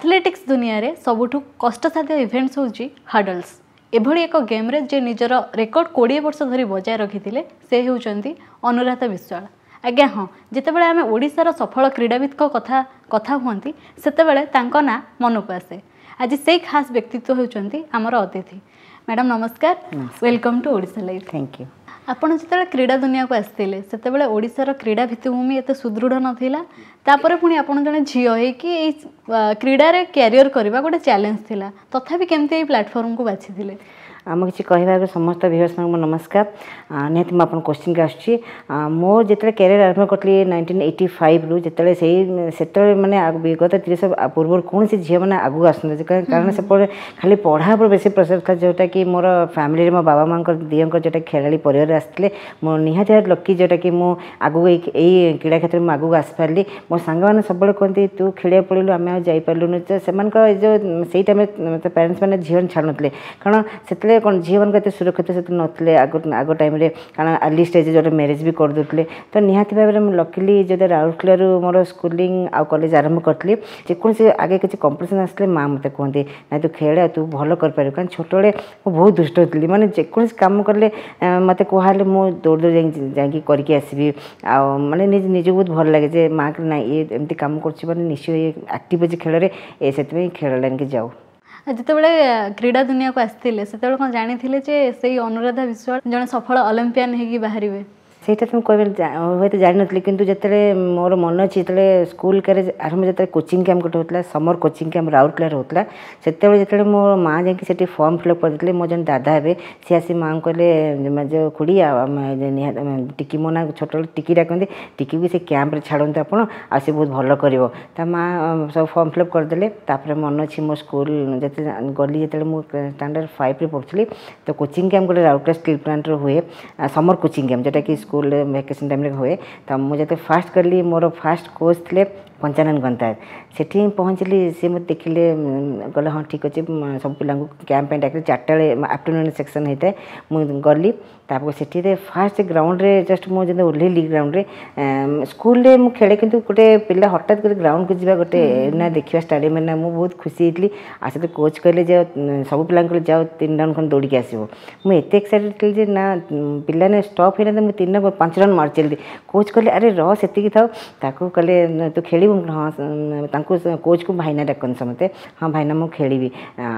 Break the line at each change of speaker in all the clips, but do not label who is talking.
Athletics ଦୁନିଆରେ ସବୁଠୁ କଷ୍ଟସାଧ୍ୟ ଇଭେଣ୍ଟସ୍ ହେଉଛି ହାର୍ଡଲ୍ସ। ଏଭଳି ଏକ ଗେମ୍ରେ ଯେ ନିଜର ରେକର୍ଡ 20 ବର୍ଷ ଧରି ବଜାୟ ରଖିଥିଲେ, ସେ ହେଉଛନ୍ତି ଅନୁରାଧା ବିଶ୍ୱାଳ। ଆଜ୍ଞା ହଁ, ଯେତେବେଳେ ଆମେ ଓଡ଼ିଶାର ସଫଳ କ୍ରୀଡ଼ାବିତ୍ଙ୍କ କଥା ହୁଅନ୍ତି, ସେତେବେଳେ ତାଙ୍କ ନାଁ ମନକୁ ଆସେ। ଆଜି ସେଇ ଖାସ୍ ବ୍ୟକ୍ତିତ୍ୱ ହେଉଛନ୍ତି ଆମର ଅତିଥି। ମ୍ୟାଡ଼ାମ୍ ନମସ୍କାର, welcome to Odisha live.
Thank you.
ଆପଣ ଯେତେବେଳେ କ୍ରୀଡ଼ା ଦୁନିଆକୁ ଆସିଥିଲେ, ସେତେବେଳେ ଓଡ଼ିଶାର କ୍ରୀଡ଼ା ଭିତ୍ତିଭୂମି ଏତେ ସୁଦୃଢ଼ ନଥିଲା। ତାପରେ ପୁଣି ଆପଣ ଜଣେ ଝିଅ ହେଇକି ଏଇ କ୍ରୀଡ଼ାରେ କ୍ୟାରିୟର କରିବା ଗୋଟେ ଚ୍ୟାଲେଞ୍ଜ ଥିଲା। ତଥାପି କେମିତି ଏଇ ପ୍ଲାଟଫର୍ମକୁ ବାଛିଥିଲେ?
ମୁଁ କିଛି କହିବା ଆଗରୁ ସମସ୍ତ ଭିଉଅର୍ସମାନଙ୍କୁ ମୋ ନମସ୍କାର। ନିହାତି ମୁଁ ଆପଣଙ୍କ କୋଶ୍ଚିନ୍କି ଆସୁଛି। ମୋ ଯେତେବେଳେ କ୍ୟାରିୟର ଆରମ୍ଭ କରିଥିଲି 1985ରୁ, ଯେତେବେଳେ ସେଇ ସେତେବେଳେ ମାନେ ବିଗତ 30 ପୂର୍ବରୁ କୌଣସି ଝିଅମାନେ ଆଗକୁ ଆସୁନଥିଲେ, କାରଣ ସେପଟେ ଖାଲି ପଢ଼ା ଉପରେ ବେଶୀ ପ୍ରେସର ଥିଲା। ଯେଉଁଟାକି ମୋର ଫ୍ୟାମିଲିରେ ମୋ ବାବା ମାଆଙ୍କର ଦିଅଙ୍କର ଯେଉଁଟା ଖେଳାଳି ପରିବାରରେ ଆସିଥିଲେ। ମୁଁ ନିହାତି ଭାବରେ ଲକି, ଯେଉଁଟାକି ମୁଁ ଆଗକୁ ଏଇ କ୍ରୀଡ଼ା କ୍ଷେତ୍ରରେ ମୁଁ ଆଗକୁ ଆସିପାରିଲି। ମୋ ସାଙ୍ଗମାନେ ସବୁବେଳେ କୁହନ୍ତି, ତୁ ଖେଳିବାକୁ ପଳେଇଲୁ, ଆମେ ଆଉ ଯାଇପାରିଲୁନି। ତ ସେମାନଙ୍କର ଏ ଯେଉଁ ସେଇ ଟାଇମ୍ରେ ପ୍ୟାରେଣ୍ଟସ୍ ମାନେ ଝିଅ ଛାଡ଼ୁନଥିଲେ, କାରଣ ସେତେବେଳେ କ'ଣ ଝିଅମାନଙ୍କ ଏତେ ସୁରକ୍ଷିତ ସେତେ ନଥିଲେ ଆଗ ଟାଇମ୍ରେ, କାରଣ ଆର୍ଲି ଷ୍ଟେଜ୍ ଯେଉଁଟା ମ୍ୟାରେଜ୍ ବି କରିଦେଉଥିଲେ। ତ ନିହାତି ଭାବରେ ମୁଁ ଲକିଲି ଯେଉଁଟା ରାଉରକେଲାରୁ ମୋର ସ୍କୁଲିଂ ଆଉ କଲେଜ ଆରମ୍ଭ କରିଥିଲି। ଯେକୌଣସି ଆଗେ କିଛି କମ୍ପିଟିସନ୍ ଆସିଲେ ମା ମୋତେ କୁହନ୍ତି, ନାଇଁ, ତୁ ଖେଳେ ଆଉ ତୁ ଭଲ କରିପାରିବୁ। କାରଣ ଛୋଟବେଳେ ମୁଁ ବହୁତ ଦୁଷ୍ଟ ଥିଲି। ମାନେ ଯେକୌଣସି କାମ କଲେ ମୋତେ କୁହାହେଲେ ମୁଁ ଦୌଡ଼ି ଦୌଡ଼ି ଯାଇକି କରିକି ଆସିବି। ଆଉ ମାନେ ନିଜକୁ ବହୁତ ଭଲ ଲାଗେ ଯେ ମା ନାଇଁ, ଇଏ ଏମିତି କାମ କରୁଛି ମାନେ ନିଶ୍ଚୟ ଇଏ ଆକ୍ଟିଭ୍ ଅଛି ଖେଳରେ, ଏ ସେଥିପାଇଁ ଖେଳ ଲାଇନ୍କି ଯାଉ।
ଯେତେବେଳେ କ୍ରୀଡ଼ା ଦୁନିଆକୁ ଆସିଥିଲେ, ସେତେବେଳେ କ'ଣ ଜାଣିଥିଲେ ଯେ ସେଇ ଅନୁରାଧା ବିଶ୍ୱାଳ ଜଣେ ସଫଳ ଅଲିମ୍ପିଆନ୍ ହେଇକି ବାହାରିବେ?
ସେଇଟା ତ ମୁଁ କହିବି, ହୁଏତ ଜାଣିନଥିଲି। କିନ୍ତୁ ଯେତେବେଳେ ମୋର ମନେ ଅଛି, ଯେତେବେଳେ ସ୍କୁଲ କ୍ୟାରେଜ ଆରମ୍ଭ, ଯେତେବେଳେ କୋଚିଂ କ୍ୟାମ୍ପ ଗୋଟେ ହେଉଥିଲା, ସମର କୋଚିଂ କ୍ୟାମ୍ପ ରାଉରକେଲାରେ ହେଉଥିଲା, ସେତେବେଳେ ଯେତେବେଳେ ମୋ ମା' ଯାଇକି ସେଠି ଫର୍ମ ଫିଲ୍ଅପ୍ କରିଦେଇଥିଲେ, ମୋ ଜଣେ ଦାଦା ହେବେ, ସିଏ ଆସି ମାଆଙ୍କୁ କହିଲେ, ଯେଉଁ ଖୁଡ଼ି, ଆଉ ଟିକି, ମୋ ନାଁ ଛୋଟବେଳେ ଟିକି ଡାକନ୍ତି, ଟିକିକୁ ସେ କ୍ୟାମ୍ପରେ ଛାଡ଼ନ୍ତୁ ଆପଣ, ଆଉ ସେ ବହୁତ ଭଲ କରିବ। ତା ମା' ସବୁ ଫର୍ମ ଫିଲ୍ଅପ୍ କରିଦେଲେ। ତାପରେ ମନେ ଅଛି, ମୋ ସ୍କୁଲ ଯେତେବେଳେ ଗଲି, ଯେତେବେଳେ ମୁଁ ଷ୍ଟାଣ୍ଡାର୍ଡ଼ 5ରେ ପଢ଼ୁଥିଲି, ତ କୋଚିଂ କ୍ୟାମ୍ପ ଗୋଟେ ରାଉରକେଲା ଷ୍ଟିଲ୍ ପ୍ଲାଣ୍ଟରେ ହୁଏ, ସମର କୋଚିଂ କ୍ୟାମ୍ପ, ଯେଉଁଟାକି ସ୍କୁଲରେ ଭ୍ୟାକେସନ୍ ଟାଇମ୍ରେ ହୁଏ। ତ ମୁଁ ଯେତେବେଳେ ଫାଷ୍ଟ କଲି, ମୋର ଫାଷ୍ଟ କୋଚ୍ ଥିଲେ ପଞ୍ଚାନନ ଗନ୍ତାୟତ। ସେଠି ହିଁ ପହଞ୍ଚିଲି। ସେ ମୋତେ ଦେଖିଲେ, କହିଲେ, ହଁ ଠିକ୍ ଅଛି। ସବୁ ପିଲାଙ୍କୁ କ୍ୟାମ୍ପ ପାଇଁ ଡାକିଲେ। 4ଟା ବେଳେ ଆଫ୍ଟରନୁନ୍ ସେକ୍ସନ୍ ହେଇଥାଏ। ମୁଁ ଗଲି। ତାପରେ ସେଠିରେ ଫାଷ୍ଟ ଗ୍ରାଉଣ୍ଡରେ ଜଷ୍ଟ ମୁଁ ଯେମିତି ଓହ୍ଲେଇଲି ଗ୍ରାଉଣ୍ଡରେ, ସ୍କୁଲରେ ମୁଁ ଖେଳେ, କିନ୍ତୁ ଗୋଟେ ପିଲା ହଠାତ୍ କରି ଗ୍ରାଉଣ୍ଡକୁ ଯିବା ଗୋଟେ ନା ଦେଖିବା ଷ୍ଟାଡ଼ିୟମ୍ ନା, ମୁଁ ବହୁତ ଖୁସି ହେଇଥିଲି। ଆଉ ସେଠି କୋଚ୍ କହିଲେ ଯେ ସବୁ ପିଲାଙ୍କୁ କହିଲେ, ଯାଅ 3 ରାଉଣ୍ଡ ଖଣ୍ଡେ ଦୌଡ଼ିକି ଆସିବ। ମୁଁ ଏତେ ଏକ୍ସାଇଟେଡ଼ ଥିଲି ଯେ ନା ପିଲାମାନେ ଷ୍ଟପ୍ ହେଇନାହାନ୍ତି, ମୁଁ 3 5 ରାଉଣ୍ଡ ମାରିଚାଲିଲି। କୋଚ୍ କହିଲେ, ଆରେ ରହ, ସେତିକି ଥାଉ। ତାକୁ କହିଲେ, ତୁ ଖେଳିବୁ? ହଁ। ତାଙ୍କୁ କୋଚ୍କୁ ଭାଇନା ଡାକନ୍ତି ସମସ୍ତେ। ହଁ ଭାଇନା, ମୁଁ ଖେଳିବି।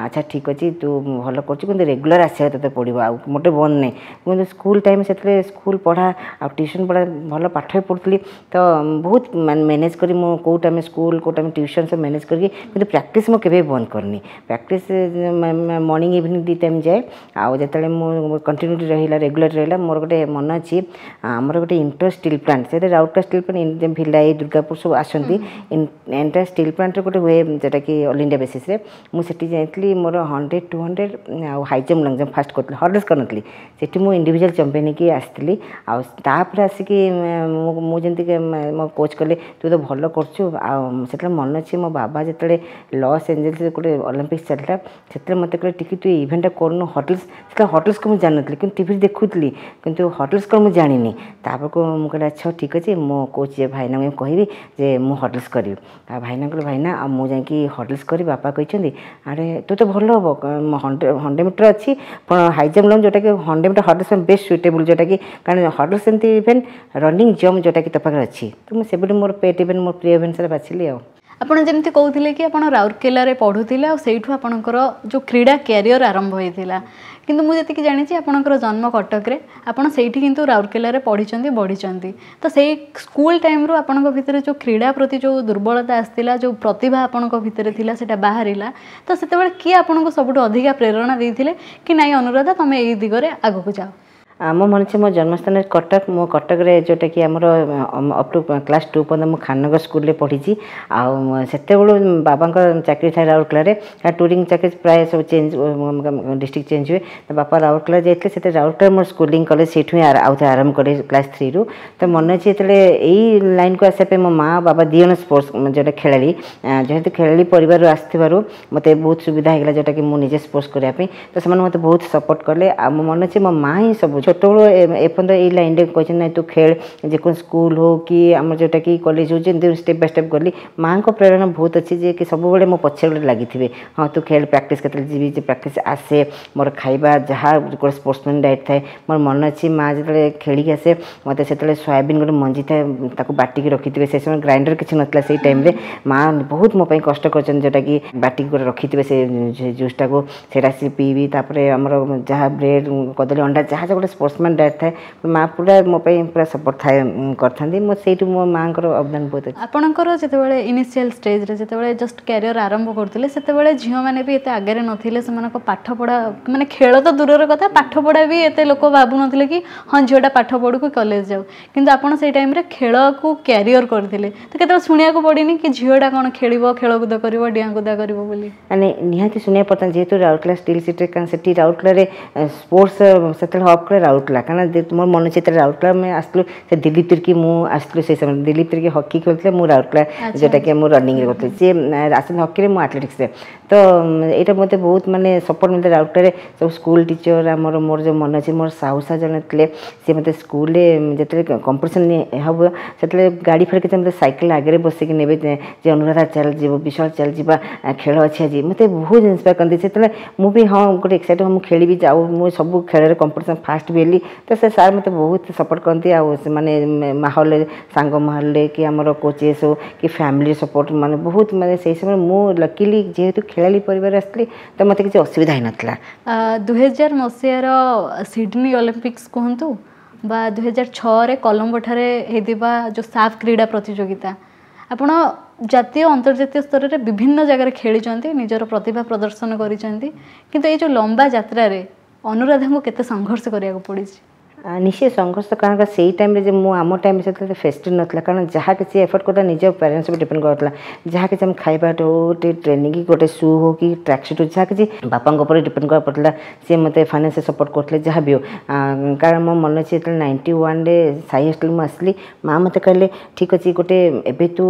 ଆଚ୍ଛା ଠିକ୍ ଅଛି, ତୁ ଭଲ କରୁଛୁ, କିନ୍ତୁ ରେଗୁଲାର ଆସିବାକୁ ତୋତେ ପଡ଼ିବ, ଆଉ ମୋଟେ ବନ୍ଦ ନାହିଁ। କିନ୍ତୁ ସ୍କୁଲ ଟାଇମ୍ ସେତେବେଳେ ସ୍କୁଲ ପଢ଼ା ଆଉ ଟ୍ୟୁସନ୍ ପଢ଼ା, ଭଲ ପାଠ ବି ପଢ଼ୁଥିଲି। ତ ବହୁତ ମାନେ ମ୍ୟାନେଜ୍ କରି ମୁଁ କେଉଁ ଟାଇମ୍ ସ୍କୁଲ, କେଉଁ ଟାଇମ୍ ଟ୍ୟୁସନ୍ ସବୁ ମ୍ୟାନେଜ୍ କରିକି, କିନ୍ତୁ ପ୍ରାକ୍ଟିସ୍ ମୁଁ କେବେ ବନ୍ଦ କରିନି। ପ୍ରାକ୍ଟିସ୍ ମର୍ଣ୍ଣିଂ ଇଭିନିଂ 2 ଟାଇମ୍ ଯାଏ। ଆଉ ଯେତେବେଳେ ମୁଁ କଣ୍ଟିନ୍ୟୁଟି ରହିଲା, ରେଗୁଲାର ରହିଲା, ମୋର ଗୋଟେ ମନେ ଅଛି, ଆମର ଗୋଟେ ଇଣ୍ଟର ଷ୍ଟିଲ୍ ପ୍ଲାଣ୍ଟ, ସେଥିରେ ରାଉରକେଲା ଷ୍ଟିଲ୍ ପ୍ଲାଣ୍ଟ, ଭିଲାଇ, ଦୁର୍ଗାପୁର ସବୁ ଆସନ୍ତି। ଏଣ୍ଟାୟାର ଷ୍ଟିଲ୍ ପ୍ଲାଣ୍ଟରେ ଗୋଟେ ହୁଏ, ଯେଉଁଟାକି ଅଲ୍ ଇଣ୍ଡିଆ ବେସିସ୍ରେ। ମୁଁ ସେଠି ଯାଇଥିଲି। ମୋର 100, 200 ଆଉ high jump, long jump first କରିଥିଲି। ହର୍ଡଲ୍ସ କରିନଥିଲି। ସେଠି ମୁଁ ଇଣ୍ଡିଭିଜୁଆଲ୍ ଚାମ୍ପିୟନ୍ ହେଇକି ଆସିଥିଲି। ଆଉ ତାପରେ ଆସିକି ମୁଁ ଯେମିତି ମୋ କୋଚ୍ କହିଲେ, ତୁ ତ ଭଲ କରୁଛୁ। ଆଉ ସେତେବେଳେ ମନେ ଅଛି, ମୋ ବାବା ଯେତେବେଳେ ଲସ୍ ଏଞ୍ଜେଲ୍ସରେ ଗୋଟେ ଅଲିମ୍ପିକ୍ସ ଚାଲିଥିଲା, ସେତେବେଳେ ମୋତେ କହିଲେ, ଟିକେ ତୁ ଇଭେଣ୍ଟଟା କରୁନୁ ହର୍ଡଲ୍ସ। ସେତେବେଳେ ହର୍ଡଲ୍ସ ମୁଁ ଜାଣିନଥିଲି, କିନ୍ତୁ ଟିଭିରେ ଦେଖୁଥିଲି, କିନ୍ତୁ ହର୍ଡଲ୍ସ କ'ଣ ମୁଁ ଜାଣିନି। ତାପରକୁ ମୁଁ କହିଲି, ଆଚ୍ଛା ଠିକ୍ ଅଛି, ମୋ କୋଚ୍ ଯେ ଭାଇନାଙ୍କୁ କହିବି ଯେ ମୁଁ ହର୍ଡଲ୍ସ କରିବି। ଆଉ ଭାଇନା କହିଲେ, ଭାଇନା, ଆଉ ମୁଁ ଯାଇକି ହର୍ଡଲ୍ସ କରିବି, ବାପା କହିଛନ୍ତି। ଆରେ ତୁ ତ ଭଲ ହେବ, 100 ମିଟର ଅଛି, ହାଇ ଜମ୍ପ ଲଙ୍ଗ୍, ଯେଉଁଟାକି 100 ମିଟର ହର୍ଡଲ୍ସ ପାଇଁ ବେଷ୍ଟ ସୁଇଟେବୁଲ୍, ଯେଉଁଟାକି କାରଣ ହର୍ଡଲ୍ସ ଏମିତି ଇଭେଣ୍ଟ, ରନିଂ ଜମ୍ପ ଯେଉଁଟାକି ତୋ ପାଖରେ ଅଛି। ତ ମୁଁ ସେବେଠୁ ମୋର ପେଟ୍ ଇଭେଣ୍ଟ, ମୋର ପ୍ରିୟ ଇଭେଣ୍ଟ ସେଟା ବାଛିଲି। ଆଉ
ଆପଣ ଯେମିତି କହୁଥିଲେ କି ଆପଣ ରାଉରକେଲାରେ ପଢ଼ୁଥିଲେ ଆଉ ସେଇଠୁ ଆପଣଙ୍କର ଯେଉଁ କ୍ରୀଡ଼ା କ୍ୟାରିୟର ଆରମ୍ଭ ହୋଇଥିଲା, କିନ୍ତୁ ମୁଁ ଯେତିକି ଜାଣିଛି ଆପଣଙ୍କର ଜନ୍ମ କଟକରେ, ଆପଣ ସେଇଠି କିନ୍ତୁ ରାଉରକେଲାରେ ପଢ଼ିଛନ୍ତି, ବଢ଼ିଛନ୍ତି। ତ ସେଇ ସ୍କୁଲ ଟାଇମ୍ରୁ ଆପଣଙ୍କ ଭିତରେ ଯେଉଁ କ୍ରୀଡ଼ା ପ୍ରତି ଯେଉଁ ଦୁର୍ବଳତା ଆସିଥିଲା, ଯେଉଁ ପ୍ରତିଭା ଆପଣଙ୍କ ଭିତରେ ଥିଲା, ସେଇଟା ବାହାରିଲା। ତ ସେତେବେଳେ କିଏ ଆପଣଙ୍କୁ ସବୁଠୁ ଅଧିକା ପ୍ରେରଣା ଦେଇଥିଲେ କି ନାଇଁ ଅନୁରାଧା, ତୁମେ ଏଇ ଦିଗରେ ଆଗକୁ ଯାଅ?
ମୋ ମନେ ଅଛି, ମୋ ଜନ୍ମସ୍ଥାନ କଟକ। ମୁଁ କଟକରେ ଯେଉଁଟାକି ଆମର ଅପ୍ ଟୁ କ୍ଲାସ୍ 2 ପର୍ଯ୍ୟନ୍ତ ମୁଁ ଖାନନଗର ସ୍କୁଲରେ ପଢ଼ିଛି। ଆଉ ସେତେବେଳୁ ବାବାଙ୍କ ଚାକିରି ଥାଏ ରାଉରକେଲାରେ, ଟୁରିଂ ଚାକିରି ପ୍ରାୟ ସବୁ ଚେଞ୍ଜ, ଡିଷ୍ଟ୍ରିକ୍ଟ ଚେଞ୍ଜ ହୁଏ। ତ ବାପା ରାଉରକେଲା ଯାଇଥିଲେ। ସେତେବେଳେ ରାଉରକେଲା ମୋର ସ୍କୁଲିଂ କଲେ, ସେଇଠୁ ହିଁ ଆଉ ଥରେ ଆରମ୍ଭ କଲି କ୍ଲାସ୍ 3ରୁ। ତ ମନେ ଅଛି, ଯେତେବେଳେ ଏଇ ଲାଇନ୍କୁ ଆସିବା ପାଇଁ ମୋ ମା ବାବା 2 ଜଣ ସ୍ପୋର୍ଟସ୍ ଯେଉଁଟା ଖେଳାଳି, ଯେହେତୁ ଖେଳାଳି ପରିବାରରୁ ଆସିଥିବାରୁ ମୋତେ ବହୁତ ସୁବିଧା ହେଇଗଲା, ଯେଉଁଟାକି ମୁଁ ନିଜେ ସ୍ପୋର୍ଟସ୍ କରିବା ପାଇଁ। ତ ସେମାନେ ମୋତେ ବହୁତ ସପୋର୍ଟ କଲେ। ଆଉ ମୋ ମନେ ଅଛି, ମୋ ମା ହିଁ ସବୁ ଛୋଟବେଳୁ ଏପର୍ଯ୍ୟନ୍ତ ଏଇ ଲାଇନ୍ରେ କହିଛନ୍ତି, ନାଇଁ ତୁ ଖେଳ, ଯେକୌଣସି ସ୍କୁଲ ହଉ କି ଆମର ଯେଉଁଟାକି କଲେଜ ହଉ, ଯେମିତି ଷ୍ଟେପ୍ ବାଇ ଷ୍ଟେପ୍ ଗଲି। ମାଆଙ୍କ ପ୍ରେରଣା ବହୁତ ଅଛି ଯେ କି ସବୁବେଳେ ମୋ ପଛରେ ଗୋଟେ ଲାଗିଥିବେ, ହଁ ତୁ ଖେଳ, ପ୍ରାକ୍ଟିସ୍ କେତେବେଳେ ଯିବି ଯେ ପ୍ରାକ୍ଟିସ୍ ଆସେ, ମୋର ଖାଇବା ଯାହା ଗୋଟେ ସ୍ପୋର୍ଟସମ୍ୟାନ୍ ଡାଏଟ୍ ଥାଏ। ମୋର ମନେ ଅଛି ମା ଯେତେବେଳେ ଖେଳିକି ଆସେ, ମୋତେ ସେତେବେଳେ ସୋୟାବିନ୍ ଗୋଟେ ମଞ୍ଜି ଥାଏ, ତାକୁ ବାଟିକି ରଖିଥିବେ। ସେ ସମୟ ଗ୍ରାଇଣ୍ଡର କିଛି ନଥିଲା, ସେଇ ଟାଇମ୍ରେ ମା ବହୁତ ମୋ ପାଇଁ କଷ୍ଟ କରିଛନ୍ତି, ଯେଉଁଟାକି ବାଟିକି ଗୋଟେ ରଖିଥିବେ ସେ ଜୁସ୍ଟାକୁ, ସେଇଟା ଆସି ପିଇବି। ତାପରେ ଆମର ଯାହା ବ୍ରେଡ଼, କଦଳୀ, ଅଣ୍ଡା, ଯାହା ଯାହା ଗୋଟେ ସ୍ପୋର୍ଟସମ୍ୟାନ୍ ଡାଏଟ୍ ଥାଏ, ମା ପୁରା ମୋ ପାଇଁ ପୁରା ସପୋର୍ଟ ଥାଏ କରିଥାନ୍ତି। ମୁଁ ସେଇଠୁ ମୋ ମାଆଙ୍କର ଅବଦାନ ବହୁତ ଅଛି।
ଆପଣଙ୍କର ଯେତେବେଳେ ଇନିସିଆଲ ଷ୍ଟେଜ୍ରେ, ଯେତେବେଳେ ଜଷ୍ଟ କ୍ୟାରିୟର ଆରମ୍ଭ କରୁଥିଲେ, ସେତେବେଳେ ଝିଅମାନେ ବି ଏତେ ଆଗରେ ନଥିଲେ। ସେମାନଙ୍କ ପାଠପଢ଼ା, ମାନେ ଖେଳ ତ ଦୂରର କଥା, ପାଠପଢ଼ା ବି ଏତେ ଲୋକ ଭାବୁନଥିଲେ କି ହଁ ଝିଅଟା ପାଠ ପଢ଼ୁ କି କଲେଜ ଯାଉ। କିନ୍ତୁ ଆପଣ ସେଇ ଟାଇମ୍ରେ ଖେଳକୁ କ୍ୟାରିୟର କରିଥିଲେ, ତ କେତେବେଳେ ଶୁଣିବାକୁ ପଡ଼ିନି କି ଝିଅଟା କ'ଣ ଖେଳିବ, ଖେଳକୁଦ କରିବ, ଡିଆଁକୁଦା କରିବ ବୋଲି?
ମାନେ ନିହାତି ଶୁଣିବାକୁ ପଡ଼ିଥାନ୍ତି, ଯେହେତୁ ରାଉରକେଲା ଷ୍ଟିଲ୍ ସିଟିରେ, କାରଣ ସେଠି ରାଉରକେଲାରେ ସ୍ପୋର୍ଟସ୍ ସେତେବେଳେ ହବ୍ କଲେ ରାଉରକେଲା। କାରଣ ମୋର ମନେ ଅଛି ଯେତେବେଳେ ରାଉରକେଲା ଆମେ ଆସିଥିଲୁ, ସେ ଦିଲ୍ଲୀପ ତିର୍କି ମୁଁ ଆସିଥିଲୁ, ସେଇ ସମୟରେ ଦିଲ୍ଲୀପ ତିର୍କି ହକି ଖେଳୁଥିଲେ, ମୁଁ ରାଉରକେଲା ଯେଉଁଟାକି ମୁଁ ରନିଂରେ କରୁଥିଲି, ସିଏ ଆସିଲେ ହକିରେ, ମୁଁ ଆଥଲେଟିକ୍ସରେ। ତ ଏଇଟା ମୋତେ ବହୁତ ମାନେ ସପୋର୍ଟ ମିଳିଥିଲା ରାଉରକେଲାରେ ସବୁ ସ୍କୁଲ ଟିଚର ଆମର। ମୋର ଯେଉଁ ମନେ ଅଛି, ମୋର ସାହୁସା ଜଣେ ଥିଲେ, ସିଏ ମୋତେ ସ୍କୁଲରେ ଯେତେବେଳେ କମ୍ପିଟିସନ୍ ହେବ, ସେତେବେଳେ ଗାଡ଼ି ଫାଡ଼ି କିଛି, ମୋତେ ସାଇକେଲ ଆଗରେ ବସିକି ନେବେ ଯେ ଅନୁରାଧା ଚାଲ ଯିବ, ବିଶାଳ ଚାଲ ଯିବା, ଖେଳ ଅଛି ଆଜି। ମୋତେ ବହୁତ ଇନ୍ସପାୟାର କରନ୍ତି। ସେତେବେଳେ ମୁଁ ବି ହଁ ଗୋଟେ ଏକ୍ସାଇଟେଡ଼, ମୁଁ ଖେଳିବି ଯାଉ, ମୁଁ ସବୁ ଖେଳରେ କମ୍ପିଟିସନ୍ ଫାଷ୍ଟ ବି ହେଲି। ତ ସେ ସାର୍ ମୋତେ ବହୁତ ସପୋର୍ଟ କରନ୍ତି। ଆଉ ସେମାନେ ମାହୋଲରେ, ସାଙ୍ଗ ମାହୋଲରେ କି ଆମର କୋଚେସ୍ ହଉ କି ଫ୍ୟାମିଲି ସପୋର୍ଟ, ମାନେ ବହୁତ, ମାନେ ସେଇ ସମୟରେ ମୁଁ ଲକିଲି ଯେହେତୁ ଖେଳାଳି ପରିବାର ଆସିଥିଲି, ତ ମୋତେ କିଛି ଅସୁବିଧା ହେଇନଥିଲା।
2000 ମସିହାର ସିଡନୀ ଅଲିମ୍ପିକ୍ସ କୁହନ୍ତୁ ବା 2006ରେ କଲମ୍ବୋଠାରେ ହେଇଥିବା ଯେଉଁ ସାଫ୍ କ୍ରୀଡ଼ା ପ୍ରତିଯୋଗିତା, ଆପଣ ଜାତୀୟ ଅନ୍ତର୍ଜାତୀୟ ସ୍ତରରେ ବିଭିନ୍ନ ଜାଗାରେ ଖେଳିଛନ୍ତି, ନିଜର ପ୍ରତିଭା ପ୍ରଦର୍ଶନ କରିଛନ୍ତି। କିନ୍ତୁ ଏଇ ଯେଉଁ ଲମ୍ବା ଯାତ୍ରାରେ ଅନୁରାଧାଙ୍କୁ କେତେ ସଂଘର୍ଷ କରିବାକୁ ପଡ଼ିଛି?
ନିଶ୍ଚୟ ସଂଘର୍ଷ, କାରଣ ସେଇ ଟାଇମ୍ରେ ଯେ ମୁଁ ଆମ ଟାଇମ୍ରେ ସେତେବେଳେ ଫେସିଲିଟି ନଥିଲା, କାରଣ ଯାହା କିଛି ଏଫର୍ଟ କରୁଥିଲା ନିଜ ପ୍ୟାରେଣ୍ଟସ୍ ଉପରେ ଡିପେଣ୍ଡ କରୁଥିଲା। ଯାହା କିଛି ଆମେ ଖାଇବାଠୁ ହଉ, ଟିକେ ଟ୍ରେନିଂ, ଗୋଟେ ସୁ ହଉ କି ଟ୍ରାକ୍ ସୁଟ୍ ହଉ, ଯାହା କିଛି ବାପାଙ୍କ ଉପରେ ଡିପେଣ୍ଡ କରିବାକୁ ପଡ଼ୁଥିଲା। ସିଏ ମୋତେ ଫାଇନାନ୍ସିଆଲ ସପୋର୍ଟ କରୁଥିଲେ ଯାହା ବି ହଉ। କାରଣ ମୋ ମନେ ଅଛି ଯେତେବେଳେ 91ରେ ସାଇ ହଷ୍ଟେଲ ମୁଁ ଆସିଲି, ମା ମୋତେ କହିଲେ, ଠିକ୍ ଅଛି, ଗୋଟେ ଏବେ ତୁ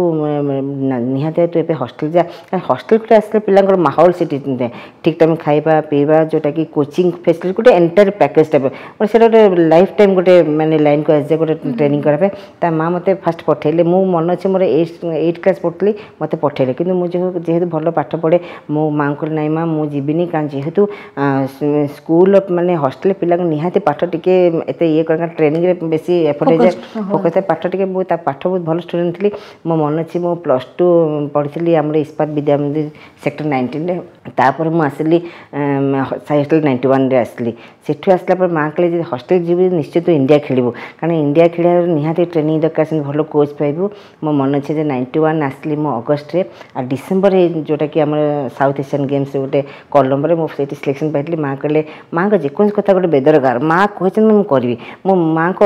ନିହାତି ତୁ ଏବେ ହଷ୍ଟେଲ ଯା। କାରଣ ହଷ୍ଟେଲକୁ ଆସିଲେ ପିଲାଙ୍କର ମାହୋଲ ସେଠି ଠିକ୍ ଟାଇମ୍ ଖାଇବା ପିଇବା, ଯେଉଁଟାକି କୋଚିଂ ଫେସିଲିଟି, ଗୋଟେ ଏଣ୍ଟାୟାର ପ୍ୟାକେଜ୍ ଟାଇପ୍, ସେଇଟା ଗୋଟେ ଲାଇଫ୍ ଟାଇମ୍ ଗୋଟେ ମାନେ ଲାଇନ୍କୁ ଆସିଯାଏ ଗୋଟେ ଟ୍ରେନିଂ କରିବା ପାଇଁ। ତା ମା ମୋତେ ଫାଷ୍ଟ ପଠେଇଲେ। ମୁଁ ମନେ ଅଛି ମୋର ଏଇଟ୍ କ୍ଲାସ୍ ପଢ଼ୁଥିଲି, ମୋତେ ପଠେଇଲେ। କିନ୍ତୁ ମୁଁ ଯେହେତୁ ଭଲ ପାଠ ପଢ଼େ, ମୋ ମାଆଙ୍କୁ କହିଲି, ନାଇଁ ମା, ମୁଁ ଯିବିନି। କାରଣ ଯେହେତୁ ସ୍କୁଲ ମାନେ ହଷ୍ଟେଲ ପିଲାଙ୍କୁ ନିହାତି ପାଠ ଟିକେ ଏତେ ଇଏ, କାରଣ ଟ୍ରେନିଂରେ ବେଶୀ ଏଫର୍ଟ ହେଇଯାଏ, ଫୋକସ୍ ଥାଏ ପାଠ ଟିକେ। ମୁଁ ତା ପାଠ ବହୁତ ଭଲ ଷ୍ଟୁଡେଣ୍ଟ ଥିଲି। ମୋ ମନେ ଅଛି ମୁଁ +2 ପଢ଼ିଥିଲି ଆମର ଇସ୍ପାତ ବିଦ୍ୟା ମନ୍ଦିର ସେକ୍ଟର 19ରେ। ତାପରେ ମୁଁ ଆସିଲି ସାଇ ହଷ୍ଟେଲ 91ରେ ଆସିଲି। ସେଠୁ ଆସିଲା ପରେ ମା କହିଲେ ଯେ ହଷ୍ଟେଲ ଯିବି ନିଶ୍ଚୟ ତୁ ଇଣ୍ଡିଆ ଖେଳିବୁ, କାରଣ ଇଣ୍ଡିଆ ଖେଳିବାର ନିହାତି ଟ୍ରେନିଂ ଦରକାର, ସେମିତି ଭଲ କୋଚ୍ ପାଇବୁ। ମୋ ମନେ ଅଛି ଯେ 91 ଆସିଲି ମୁଁ ଅଗଷ୍ଟରେ, ଆଉ ଡିସେମ୍ବରରେ ଯେଉଁଟାକି ଆମର ସାଉଥ୍ ଏସିଆନ୍ ଗେମ୍ସ ଗୋଟେ କଲମ୍ବୋରେ ମୁଁ ସେଇଠି ସିଲେକ୍ସନ୍ ପାଇଥିଲି। ମା କହିଲେ, ମାଆଙ୍କ ଯେକୌଣସି କଥା ଗୋଟେ ବେଦରକାର, ମା କହିଛନ୍ତି ମୁଁ କରିବି। ମୋ ମାଆଙ୍କ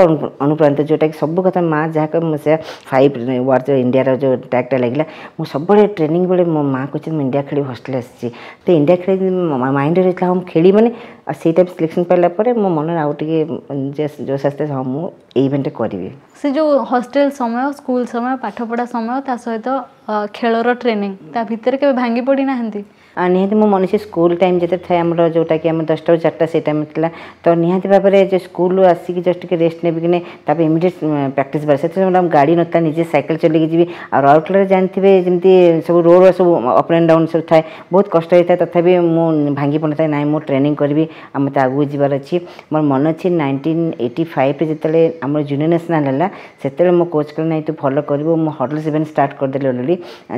ଅନୁପ୍ରାଣିତ, ଯେଉଁଟାକି ସବୁ କଥା ମା ଯାହା କହିବେ ମୁଁ ସେୟା। ଫାଇଭ୍ ୱାର୍ଡ ଇଣ୍ଡିଆର ଯେଉଁ ଟ୍ୟାଗ୍ଟା ଲାଗିଲା, ମୁଁ ସବୁବେଳେ ଟ୍ରେନିଂ ବେଳେ ମୋ ମା କହିଛନ୍ତି ମୁଁ ଇଣ୍ଡିଆ ଖେଳିବି, ହଷ୍ଟେଲ ଆସିଛି ତ ଇଣ୍ଡିଆ ଖେଳି, ମାଇଣ୍ଡରେ ରହିଥିଲା ହଁ ମୁଁ ଖେଳିବି ମାନେ। ଆଉ ସେଇ ଟାଇପ୍ ସିଲେକ୍ସନ୍ ପାଇଲା ପରେ ମୋ ମନରେ ଆଉ ଟିକେ ଜୋସ୍ ଆସିଥିଲା, ହଁ ମୁଁ ଏଇ ଇଭେଣ୍ଟରେ କରିବି।
ସେ ଯେଉଁ ହଷ୍ଟେଲ ସମୟ, ସ୍କୁଲ ସମୟ, ପାଠପଢ଼ା ସମୟ, ତା ସହିତ ଖେଳର ଟ୍ରେନିଂ, ତା ଭିତରେ କେବେ ଭାଙ୍ଗି ପଡ଼ିନାହାନ୍ତି?
ନିହାତି ମୁଁ ମନେ ଅଛି ସ୍କୁଲ ଟାଇମ୍ ଯେତେ ଥାଏ ଆମର, ଯେଉଁଟାକି ଆମର 10ଟାରୁ 4ଟା ସେଇ ଟାଇମ୍ ଥିଲା, ତ ନିହାତି ଭାବରେ ଯେ ସ୍କୁଲରୁ ଆସିକି ଜଷ୍ଟ ଟିକେ ରେଷ୍ଟ ନେବି କି ନାହିଁ, ତାପରେ ଇମିଡ଼ିଏଟ୍ ପ୍ରାକ୍ଟିସ୍ ବାର। ସେଥିରେ ଆମ ଗାଡ଼ି ନଥିଲା, ନିଜେ ସାଇକେଲ ଚଲେଇକି ଯିବି। ଆଉ ରାଉରକେଲାରେ ଜାଣିଥିବେ ଯେମିତି ସବୁ ରୋଡ଼ ସବୁ ଅପ୍ ଆଣ୍ଡ ଡାଉନ୍ ସବୁ ଥାଏ, ବହୁତ କଷ୍ଟ ହେଇଥାଏ। ତଥାପି ମୁଁ ଭାଙ୍ଗି ପଡ଼ିନଥାଏ, ନାଇଁ ମୁଁ ଟ୍ରେନିଂ କରିବି ଆଉ ମୋତେ ଆଗକୁ ଯିବାର ଅଛି। ମୋର ମନେ ଅଛି 1985ରେ ଯେତେବେଳେ ଆମର ଜୁନିୟର ନ୍ୟାସନାଲ୍ ହେଲା, ସେତେବେଳେ ମୋ କୋଚ୍ କହିଲେ, ନାଇଁ ତୁ ଭଲ କରିବୁ। ମୁଁ ହର୍ଡଲ୍ସ ଇଭେଣ୍ଟ ଷ୍ଟାର୍ଟ କରିଦେଲି ଅଲରେଡ଼ି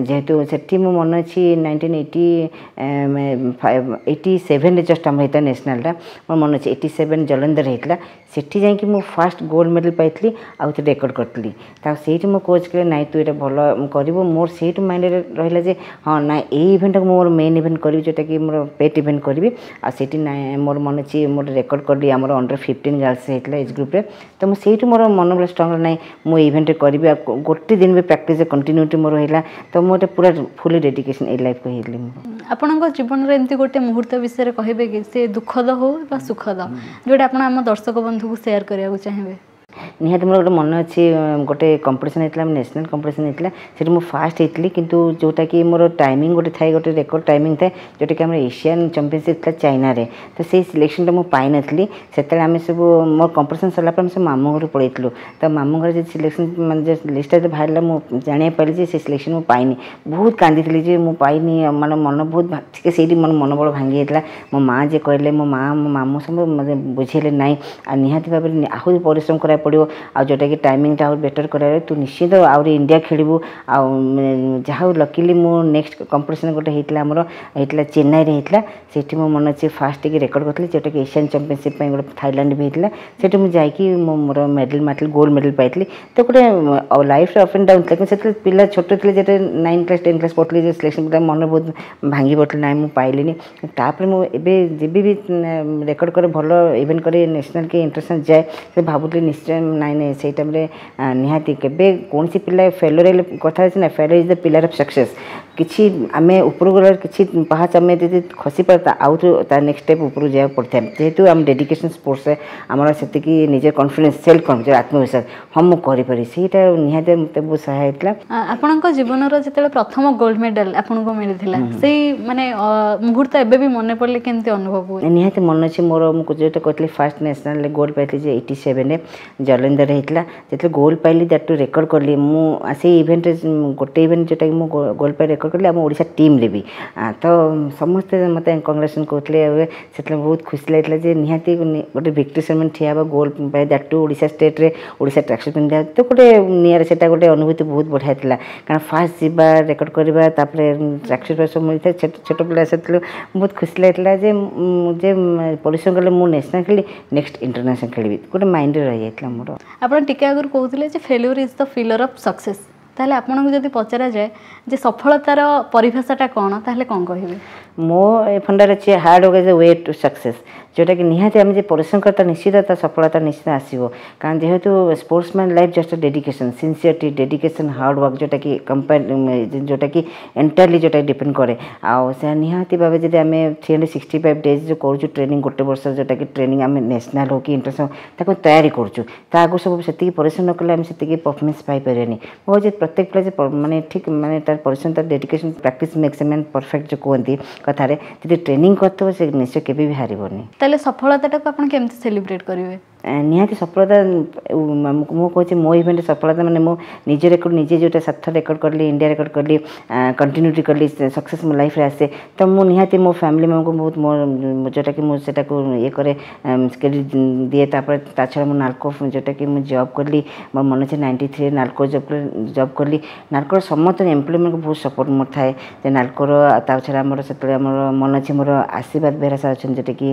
ଯେହେତୁ ସେଠି। ମୁଁ ମନେ ଅଛି 1987ରେ ଜଷ୍ଟ ଆମର ହେଇଥିଲା ନ୍ୟାସନାଲ୍ଟା, ମୋର ମନେ ଅଛି 87 ଜଲନ୍ଧର ହେଇଥିଲା। ସେଠି ଯାଇକି ମୁଁ ଫାଷ୍ଟ ଗୋଲ୍ଡ ମେଡ଼ାଲ୍ ପାଇଥିଲି ଆଉ ଏଥିରେ ରେକର୍ଡ଼ କରିଥିଲି। ତା ସେଇଠି ମୋ କୋଚ୍ କହିଲେ, ନାଇଁ ତୁ ଏଇଟା ଭଲ କରିବୁ। ମୋର ସେଇଠୁ ମାଇଣ୍ଡରେ ରହିଲା ଯେ ହଁ ନାଇଁ ଏଇ ଇଭେଣ୍ଟଟାକୁ ମୁଁ ମୋର ମେନ୍ ଇଭେଣ୍ଟ କରିବି, ଯେଉଁଟାକି ମୋର ପେଟ୍ ଇଭେଣ୍ଟ କରିବି। ଆଉ ସେଇଠି ନାଇଁ ମୋର ମନେ ଅଛି ମୋର ରେକର୍ଡ଼ କଲି, ଆମର ଅଣ୍ଡର 15 ଗାର୍ଲସ ହେଇଥିଲା ଏଜ୍ ଗ୍ରୁପ୍ରେ। ତ ମୁଁ ସେଇଠୁ ମୋର ମନୋବଳ ଷ୍ଟ୍ରଙ୍ଗ, ନାଇଁ ମୁଁ ଏଇ ଇଭେଣ୍ଟରେ କରିବି। ଆଉ ଗୋଟେ ଦିନ ବି ପ୍ରାକ୍ଟିସ୍ କଣ୍ଟିନ୍ୟୁଟି ମୋର ହେଲା, ତ ମୁଁ ଏଇଟା ପୁରା ଫୁଲି ଡେଡିକେସନ୍ ଏଇ ଲାଇଫ୍କୁ ହେଇଗଲି ମୁଁ।
ଆପଣଙ୍କ ଜୀବନରେ ଏମିତି ଗୋଟେ ମୁହୂର୍ତ୍ତ ବିଷୟରେ କହିବେ କି, ସେ ଦୁଃଖଦ ହଉ ବା ସୁଖଦ, ଯେଉଁଟା ଆପଣ ଆମ ଦର୍ଶକ ବନ୍ଧୁକୁ ସେୟାର କରିବାକୁ ଚାହିଁବେ?
ନିହାତି ମୋର ଗୋଟେ ମନେ ଅଛି, ଗୋଟେ କମ୍ପିଟିସନ୍ ହେଇଥିଲା, ନ୍ୟାସନାଲ୍ କମ୍ପିଟିସନ୍ ହେଇଥିଲା, ସେଠି ମୁଁ ଫାଷ୍ଟ ହେଇଥିଲି। କିନ୍ତୁ ଯେଉଁଟାକି ମୋର ଟାଇମିଂ ଗୋଟେ ଥାଏ, ଗୋଟେ ରେକର୍ଡ଼ ଟାଇମିଂ ଥାଏ, ଯେଉଁଟାକି ଆମର ଏସିଆନ୍ ଚାମ୍ପିଅନସିପ୍ ଥିଲା ଚାଇନାରେ, ତ ସେଇ ସିଲେକ୍ସନ୍ଟା ମୁଁ ପାଇନଥିଲି। ସେତେବେଳେ ଆମେ ସବୁ ମୋର କମ୍ପିଟିସନ୍ ସରିଲା ପରେ ଆମେ ସବୁ ମାମୁଁ ଘରକୁ ପଳେଇଥିଲୁ। ତ ମାମୁଁ ଘରେ ଯଦି ସିଲେକ୍ସନ୍ ମାନେ ଯେ ଲିଷ୍ଟଟା ଯେତେ ବାହାରିଲା, ମୁଁ ଜାଣିବାକୁ ପାଇଲି ଯେ ସେ ସିଲେକ୍ସନ୍ ମୁଁ ପାଇନି। ବହୁତ କାନ୍ଦିଥିଲି ଯେ ମୁଁ ପାଇନି, ମାନେ ମନ ବହୁତ ଟିକେ ସେଇଠି ମୋର ମନୋବଳ ଭାଙ୍ଗି ଯାଇଥିଲା। ମୋ ମାଆ ଯିଏ କହିଲେ, ମୋ ମାଆ, ମୋ ମାମୁଁ ସବୁ ମୋତେ ବୁଝେଇଲେ, ନାଇଁ, ଆଉ ନିହାତି ଭାବରେ ଆହୁରି ପରିଶ୍ରମ କରିବାକୁ ପଡ଼ିବ, ଆଉ ଯେଉଁଟାକି ଟାଇମିଂଟା ଆହୁରି ବେଟର୍ କରିବାକୁ, ତୁ ନିଶ୍ଚିତ ଆହୁରି ଇଣ୍ଡିଆ ଖେଳିବୁ। ଆଉ ଯାହା ହଉ, ଲକିଲି ମୁଁ ନେକ୍ସଟ କମ୍ପିଟିସନ୍ ଗୋଟେ ହେଇଥିଲା ଆମର, ହେଇଥିଲା ଚେନ୍ନାଇରେ ହେଇଥିଲା। ସେଇଠି ମୋ ମନେ ଅଛି ଫାଷ୍ଟ ଟିକେ ରେକର୍ଡ଼ କରିଥିଲି, ଯେଉଁଟାକି ଏସିଆନ୍ ଚାମ୍ପିଅନସିପ୍ ପାଇଁ ଗୋଟେ ଥାଇଲାଣ୍ଡ ବି ହେଇଥିଲା। ସେଠି ମୁଁ ଯାଇକି ମୁଁ ମୋର ମେଡ଼ାଲ୍ ମାରିଥିଲି, ଗୋଲ୍ଡ ମେଡ଼ାଲ୍ ପାଇଥିଲି। ତ ଗୋଟେ ଲାଇଫ୍ରେ ଅପ୍ ଆଣ୍ଡ ଡାଉନ୍ ଥିଲା। କିନ୍ତୁ ସେତେବେଳେ ପିଲା ଛୋଟ ଥିଲେ, ଯେତେବେଳେ 9 କ୍ଲାସ୍ 10 କ୍ଲାସ୍ ପଢ଼ୁଥିଲି, ଯେ ସିଲେକ୍ସନ୍ ମନ ବହୁତ ଭାଙ୍ଗି ପଡ଼ିଥିଲା, ନାଇଁ ମୁଁ ପାଇଲିନି। ତାପରେ ମୁଁ ଏବେ ଯେବେ ବି ରେକର୍ଡ଼ କରେ, ଭଲ ଇଭେଣ୍ଟ କରେ, ନ୍ୟାସନାଲ୍ କି ଇଣ୍ଟରନ୍ୟାସନାଲ୍ ଯାଏ, ସେ ଭାବୁଥିଲି ନିଶ୍ଚୟ ନାଇଁ ନାଇଁ, ସେଇ ଟାଇମ୍ରେ ନିହାତି କେବେ କୌଣସି ପିଲା ଫେଲୁଅର୍ ହେଲେ, କଥା ଅଛି ନା, failure is the pillar of success। କିଛି ଆମେ ଉପରକୁ ଗଲା, କିଛି ପାହାଚ ଆମେ ଯଦି ଖସି ପାରିବା, ଆଉ ତା ନେକ୍ସଟ ଷ୍ଟେପ୍ ଉପରକୁ ଯିବାକୁ ପଡ଼ିଥାଏ। ଯେହେତୁ ଆମ ଡେଡିକେସନ୍ ସ୍ପୋର୍ଟସରେ ଆମର ସେତିକି ନିଜ କନଫିଡେନ୍ସ, ସେଲ୍ଫ କନଫିଡେନ୍ସ, ଆତ୍ମବିଶ୍ୱାସ, ହଁ ମୁଁ କରିପାରିବି, ସେଇଟା ନିହାତି ମୋତେ ବହୁତ ସହାୟ ହେଇଥିଲା।
ଆପଣଙ୍କ ଜୀବନର ଯେତେବେଳେ ପ୍ରଥମ ଗୋଲ୍ଡ ମେଡାଲ ଆପଣଙ୍କୁ ମିଳିଥିଲା, ସେଇ ମାନେ ମୁହୂର୍ତ୍ତ ଏବେ ବି ମନେ ପଡ଼ିଲେ କେମିତି ଅନୁଭବ ହୁଏ?
ନିହାତି ମନେ ଅଛି ମୋର। ମୁଁ ଯେଉଁଟା କହିଥିଲି, ଫାଷ୍ଟ ନ୍ୟାସନାଲ୍ ଗୋଲ୍ଡ ପାଇଥିଲି ଯେ 87ରେ ଜଲନ୍ଧରରେ ହେଇଥିଲା। ଯେତେବେଳେ ଗୋଲ୍ଡ ପାଇଲି, that two record କଲି ମୁଁ ସେଇ ଇଭେଣ୍ଟରେ, ଗୋଟେ ଇଭେଣ୍ଟ ଯେଉଁଟାକି ମୁଁ ଗୋଲ୍ଡ ପାଇ ରେକର୍ଡ଼ କଲି ଆମ ଓଡ଼ିଶା ଟିମ୍ରେ ବି, ତ ସମସ୍ତେ ମୋତେ କଂଗ୍ରାଚୁଲେସନ୍ କହୁଥିଲେ। ଏବେ ସେତେବେଳେ ବହୁତ ଖୁସି ଲାଗିଥିଲା ଯେ ନିହାତି ଗୋଟେ ଭିକ୍ଟ୍ରି ସେରେମନି ଠିଆ ହେବ, ଗୋଲ୍ଡ ପାଇ, that two Odisha ଷ୍ଟେଟ୍ରେ, ଓଡ଼ିଶା ଟ୍ରାକସୁଟ୍ ପିନ୍ଧିବା, ତ ଗୋଟେ ନିଆରା ସେଇଟା ଗୋଟେ ଅନୁଭୂତି ବହୁତ ବଢ଼ିଆ ଥିଲା। କାରଣ ଫାଷ୍ଟ ଯିବା, ରେକର୍ଡ଼ କରିବା, ତାପରେ ଟ୍ରାକସୁଟ୍ ସବୁ ମିଳିଥାଏ। ଛୋଟ ଛୋଟ ପିଲା ସେତେବେଳେ ବହୁତ ଖୁସି ଲାଗିଥିଲା ଯେ ପରିଶ୍ରମ କଲେ ମୁଁ ନ୍ୟାସନାଲ୍ ଖେଳିଲି, ନେକ୍ସଟ ଇଣ୍ଟରନ୍ୟାସନାଲ୍ ଖେଳିବି, ଗୋଟେ ମାଇଣ୍ଡରେ ରହିଯାଇଥିଲା ମୋର।
ଆପଣ ଟିକେ ଆଗରୁ କହୁଥିଲେ ଯେ failure is the pillar of success। ତାହେଲେ ଆପଣଙ୍କୁ ଯଦି ପଚରାଯାଏ ଯେ ସଫଳତାର ପରିଭାଷାଟା କ'ଣ, ତାହେଲେ କ'ଣ କହିବେ?
ମୋ ଫଣ୍ଡାରେ ଅଛି, hard work is the way to success। ଯେଉଁଟାକି ନିହାତି ଆମେ ଯେ ପରିଶ୍ରମ କରିବା, ନିଶ୍ଚିତ ତା ସଫଳତା ନିଶ୍ଚିତ ଆସିବ। କାରଣ ଯେହେତୁ sportsman life just dedication, sincerity, dedication, hard work, ଯେଉଁଟାକି କମ୍ପାନି, ଯେଉଁଟାକି ଏଣ୍ଟାୟାରଲି ଯେଉଁଟା ଡିପେଣ୍ଡ କରେ। ଆଉ ସେ ନିହାତି ଭାବେ ଯଦି ଆମେ 365 ଡେଜ୍ ଯେଉଁ କରୁଛୁ ଟ୍ରେନିଂ, ଗୋଟେ ବର୍ଷ ଯେଉଁଟାକି ଟ୍ରେନିଂ, ଆମେ ନ୍ୟାସନାଲ୍ ହଉ କି ଇଣ୍ଟରନ୍ୟାସନାଲ୍ ତାକୁ ତୟାରୀ କରୁଛୁ, ତା ଆଗରୁ ସବୁ ସେତିକି ପରିଶ୍ରମ ନ କଲେ ଆମେ ସେତିକି ପରଫର୍ମାନ୍ସ ପାଇପାରିବାନି। ମୁଁ ଭାବୁଛି ପ୍ରତ୍ୟେକ ପିଲା ଯେ ମାନେ ଠିକ୍ ମାନେ ତାର ପରିଶ୍ରମ, ତାର dedication, practice makes a man perfect ଯେଉଁ କୁହନ୍ତି କଥାରେ, ଯଦି ଟ୍ରେନିଂ କରିଥିବ ସେ ନିଶ୍ଚୟ କେବେ ବି ହାରିବନି।
ତାହେଲେ ସଫଳତାଟାକୁ ଆପଣ କେମିତି ସେଲିବ୍ରେଟ୍ କରିବେ?
ନିହାତି ସଫଳତା ମୁଁ କହୁଛି, ମୋ ଇଭେଣ୍ଟ ସଫଳତା ମାନେ ମୁଁ ନିଜ ରେକର୍ଡ଼ ନିଜେ ଯେଉଁଟା ସାତଥର ରେକର୍ଡ଼ କଲି, ଇଣ୍ଡିଆ ରେକର୍ଡ଼ କଲି, କଣ୍ଟିନ୍ୟୁଟି କଲି, ସକ୍ସେସ୍ ମୋ ଲାଇଫ୍ରେ ଆସେ, ତ ମୁଁ ନିହାତି ମୋ ଫ୍ୟାମିଲି ମେମ୍ବରକୁ ବହୁତ ମୋ ଯେଉଁଟାକି ମୁଁ ସେଟାକୁ ଇଏ କରେ, କ୍ରେଡ଼ିଟ୍ ଦିଏ। ତାପରେ ତା ଛଡ଼ା ମୁଁ ନାଲକୋ ଯେଉଁଟାକି ମୁଁ ଜବ୍ କଲି, ମୋର ମନେ ଅଛି 93 ନାଲକୋ ଜବ୍ କଲି। ନାଲକୋର ସମସ୍ତ ଏମ୍ପ୍ଲୟିମାନଙ୍କୁ ବହୁତ ସପୋର୍ଟ ମୋର ଥାଏ ଯେ ନାଲକୋର। ତା ଛଡ଼ା ଆମର ସେତେବେଳେ ଆମର ମନେ ଅଛି, ମୋର ଆଶୀର୍ବାଦ ବେହେରା ସାର୍ ଅଛନ୍ତି, ଯେଉଁଟାକି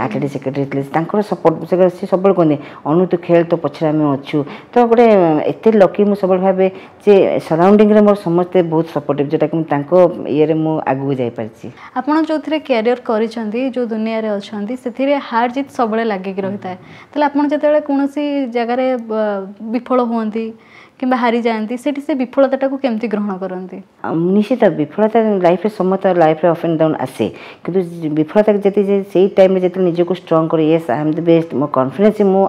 ଆଥଲେଟିକ୍ ସେକ୍ରେଟାରୀ ଥିଲେ, ତାଙ୍କର ସପୋର୍ଟ। ସେ ସବୁବେଳେ କୁହନ୍ତି, "ଅନୁ, ତୁ ଖେଳ, ତୋ ପଛରେ ଆମେ ଅଛୁ।" ତ ଗୋଟେ ଏତେ ଲକି ମୁଁ ସବୁବେଳେ ଭାବେ ଯେ ସରାଉଣ୍ଡିଂରେ ମୋର ସମସ୍ତେ ବହୁତ ସପୋର୍ଟିଭ୍, ଯେଉଁଟାକି ମୁଁ ତାଙ୍କ ଇଏରେ ମୁଁ ଆଗକୁ ଯାଇପାରିଛି।
ଆପଣ ଯେଉଁଥିରେ କ୍ୟାରିୟର କରିଛନ୍ତି, ଯେଉଁ ଦୁନିଆରେ ଅଛନ୍ତି, ସେଥିରେ ହାର ଜିତ୍ ସବୁବେଳେ ଲାଗିକି ରହିଥାଏ। ତାହେଲେ ଆପଣ ଯେତେବେଳେ କୌଣସି ଜାଗାରେ ବିଫଳ ହୁଅନ୍ତି କିମ୍ବା ହାରିଯାଆନ୍ତି, ସେଠି ସେ ବିଫଳତାଟାକୁ କେମିତି ଗ୍ରହଣ କରନ୍ତି?
ନିଶ୍ଚିତ ବିଫଳତା ଲାଇଫ୍ରେ, ସମସ୍ତ ଲାଇଫ୍ରେ ଅପ୍ ଆଣ୍ଡ ଡାଉନ୍ ଆସେ। କିନ୍ତୁ ବିଫଳତା ଯଦି ସେଇ ଟାଇମ୍ରେ ଯେତେବେଳେ ନିଜକୁ ଷ୍ଟ୍ରଙ୍ଗ କରି, yes, I am the best, ମୋ କନଫିଡେନ୍ସ, ମୁଁ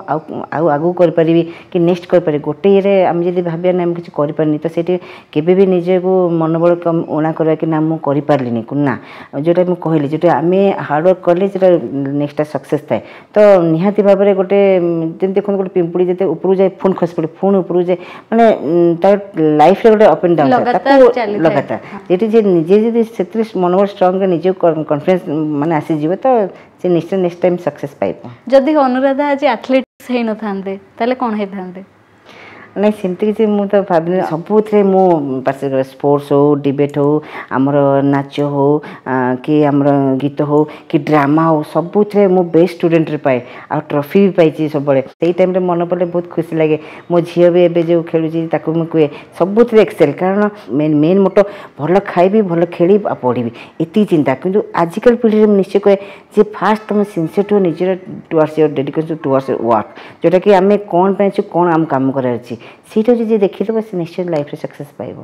ଆଉ ଆଗକୁ କରିପାରିବି କି ନେକ୍ସଟ କରିପାରିବି। ଗୋଟେ ଇଏରେ ଆମେ ଯଦି ଭାବିବା ନା ଆମେ କିଛି କରିପାରିନି, ତ ସେଇଠି କେବେ ବି ନିଜକୁ ମନୋବଳ କମ୍ ଊଣା କରିବା କି ନା ମୁଁ କରିପାରିଲିନି, ନା। ଯେଉଁଟା ମୁଁ କହିଲି, ଯେଉଁଟା ଆମେ ହାର୍ଡ଼ୱାର୍କ କଲେ ସେଇଟା ନେକ୍ସଟଟା ସକ୍ସେସ୍ ଥାଏ। ତ ନିହାତି ଭାବରେ ଗୋଟେ ଯେମିତି ଦେଖନ୍ତୁ, ଗୋଟେ ପିମ୍ପୁଡ଼ି ଯେତେ ଉପରକୁ ଯାଏ, ପୁଣି ଖସି ପଡ଼େ, ପୁଣି ଉପରକୁ ଯାଏ, ମାନେ ତାର ଲାଇଫ୍ରେ ଗୋଟେ ଅପ୍ ଆଣ୍ଡ ଡାଉନ୍ ତାକୁ ଲଗାତାର। ଯେଠି ଯେ ନିଜେ ଯଦି ସେଥିରେ ମନୋବଳ ଷ୍ଟ୍ରଙ୍ଗ, ନିଜକୁ କନଫିଡେନ୍ସ ମାନେ ଆସିଯିବ, ତ ସେ ନିଶ୍ଚୟ ନେକ୍ସଟ ଟାଇମ୍ ସକ୍ସେସ୍ ପାଇବ।
ଯଦି ଅନୁରାଧା ଆଜି ଆଥଲେଟିକ୍ସ ହେଇନଥାନ୍ତେ, ତାହେଲେ କ'ଣ ହେଇଥାନ୍ତେ?
ନାଇଁ, ସେମିତି କିଛି ମୁଁ ତ ଭାବିନି। ସବୁଥିରେ ମୁଁ ପାର୍ଟିସିପେଟ୍ କରେ। ସ୍ପୋର୍ଟସ୍ ହଉ, ଡିବେଟ୍ ହଉ, ଆମର ନାଚ ହଉ କି ଆମର ଗୀତ ହଉ କି ଡ୍ରାମା ହଉ, ସବୁଥିରେ ମୁଁ ବେଷ୍ଟ ଷ୍ଟୁଡେଣ୍ଟରେ ପାଏ ଆଉ ଟ୍ରଫି ବି ପାଇଛି ସବୁବେଳେ। ସେଇ ଟାଇମ୍ରେ ମନେ ପଡ଼ିଲେ ବହୁତ ଖୁସି ଲାଗେ। ମୋ ଝିଅ ବି ଏବେ ଯେଉଁ ଖେଳୁଛି, ତାକୁ ମୁଁ କୁହେ ସବୁଥିରେ ଏକ୍ସେଲ୍। କାରଣ ମେନ୍ ମୋଟୋ ଭଲ ଖାଇବି, ଭଲ ଖେଳିବି ଆଉ ପଢ଼ିବି, ଏତିକି ଚିନ୍ତା। କିନ୍ତୁ ଆଜିକାଲି ପିଢ଼ିରେ ମୁଁ ନିଶ୍ଚୟ କୁହେ ଯେ ଫାଷ୍ଟ ତୁମେ ସିନସିୟର ଟୁ ନିଜର towards your dedication, towards work, ଯେଉଁଟାକି ଆମେ କ'ଣ ପାଇଁ ଅଛୁ, କ'ଣ ଆମ କାମ କରିବାର ଅଛି। ସେଇଟା ଯଦି ଯିଏ ଦେଖିଦେବ, ସେ ନିଶ୍ଚୟ ଲାଇଫ୍ରେ ସକ୍ସେସ୍ ପାଇବ।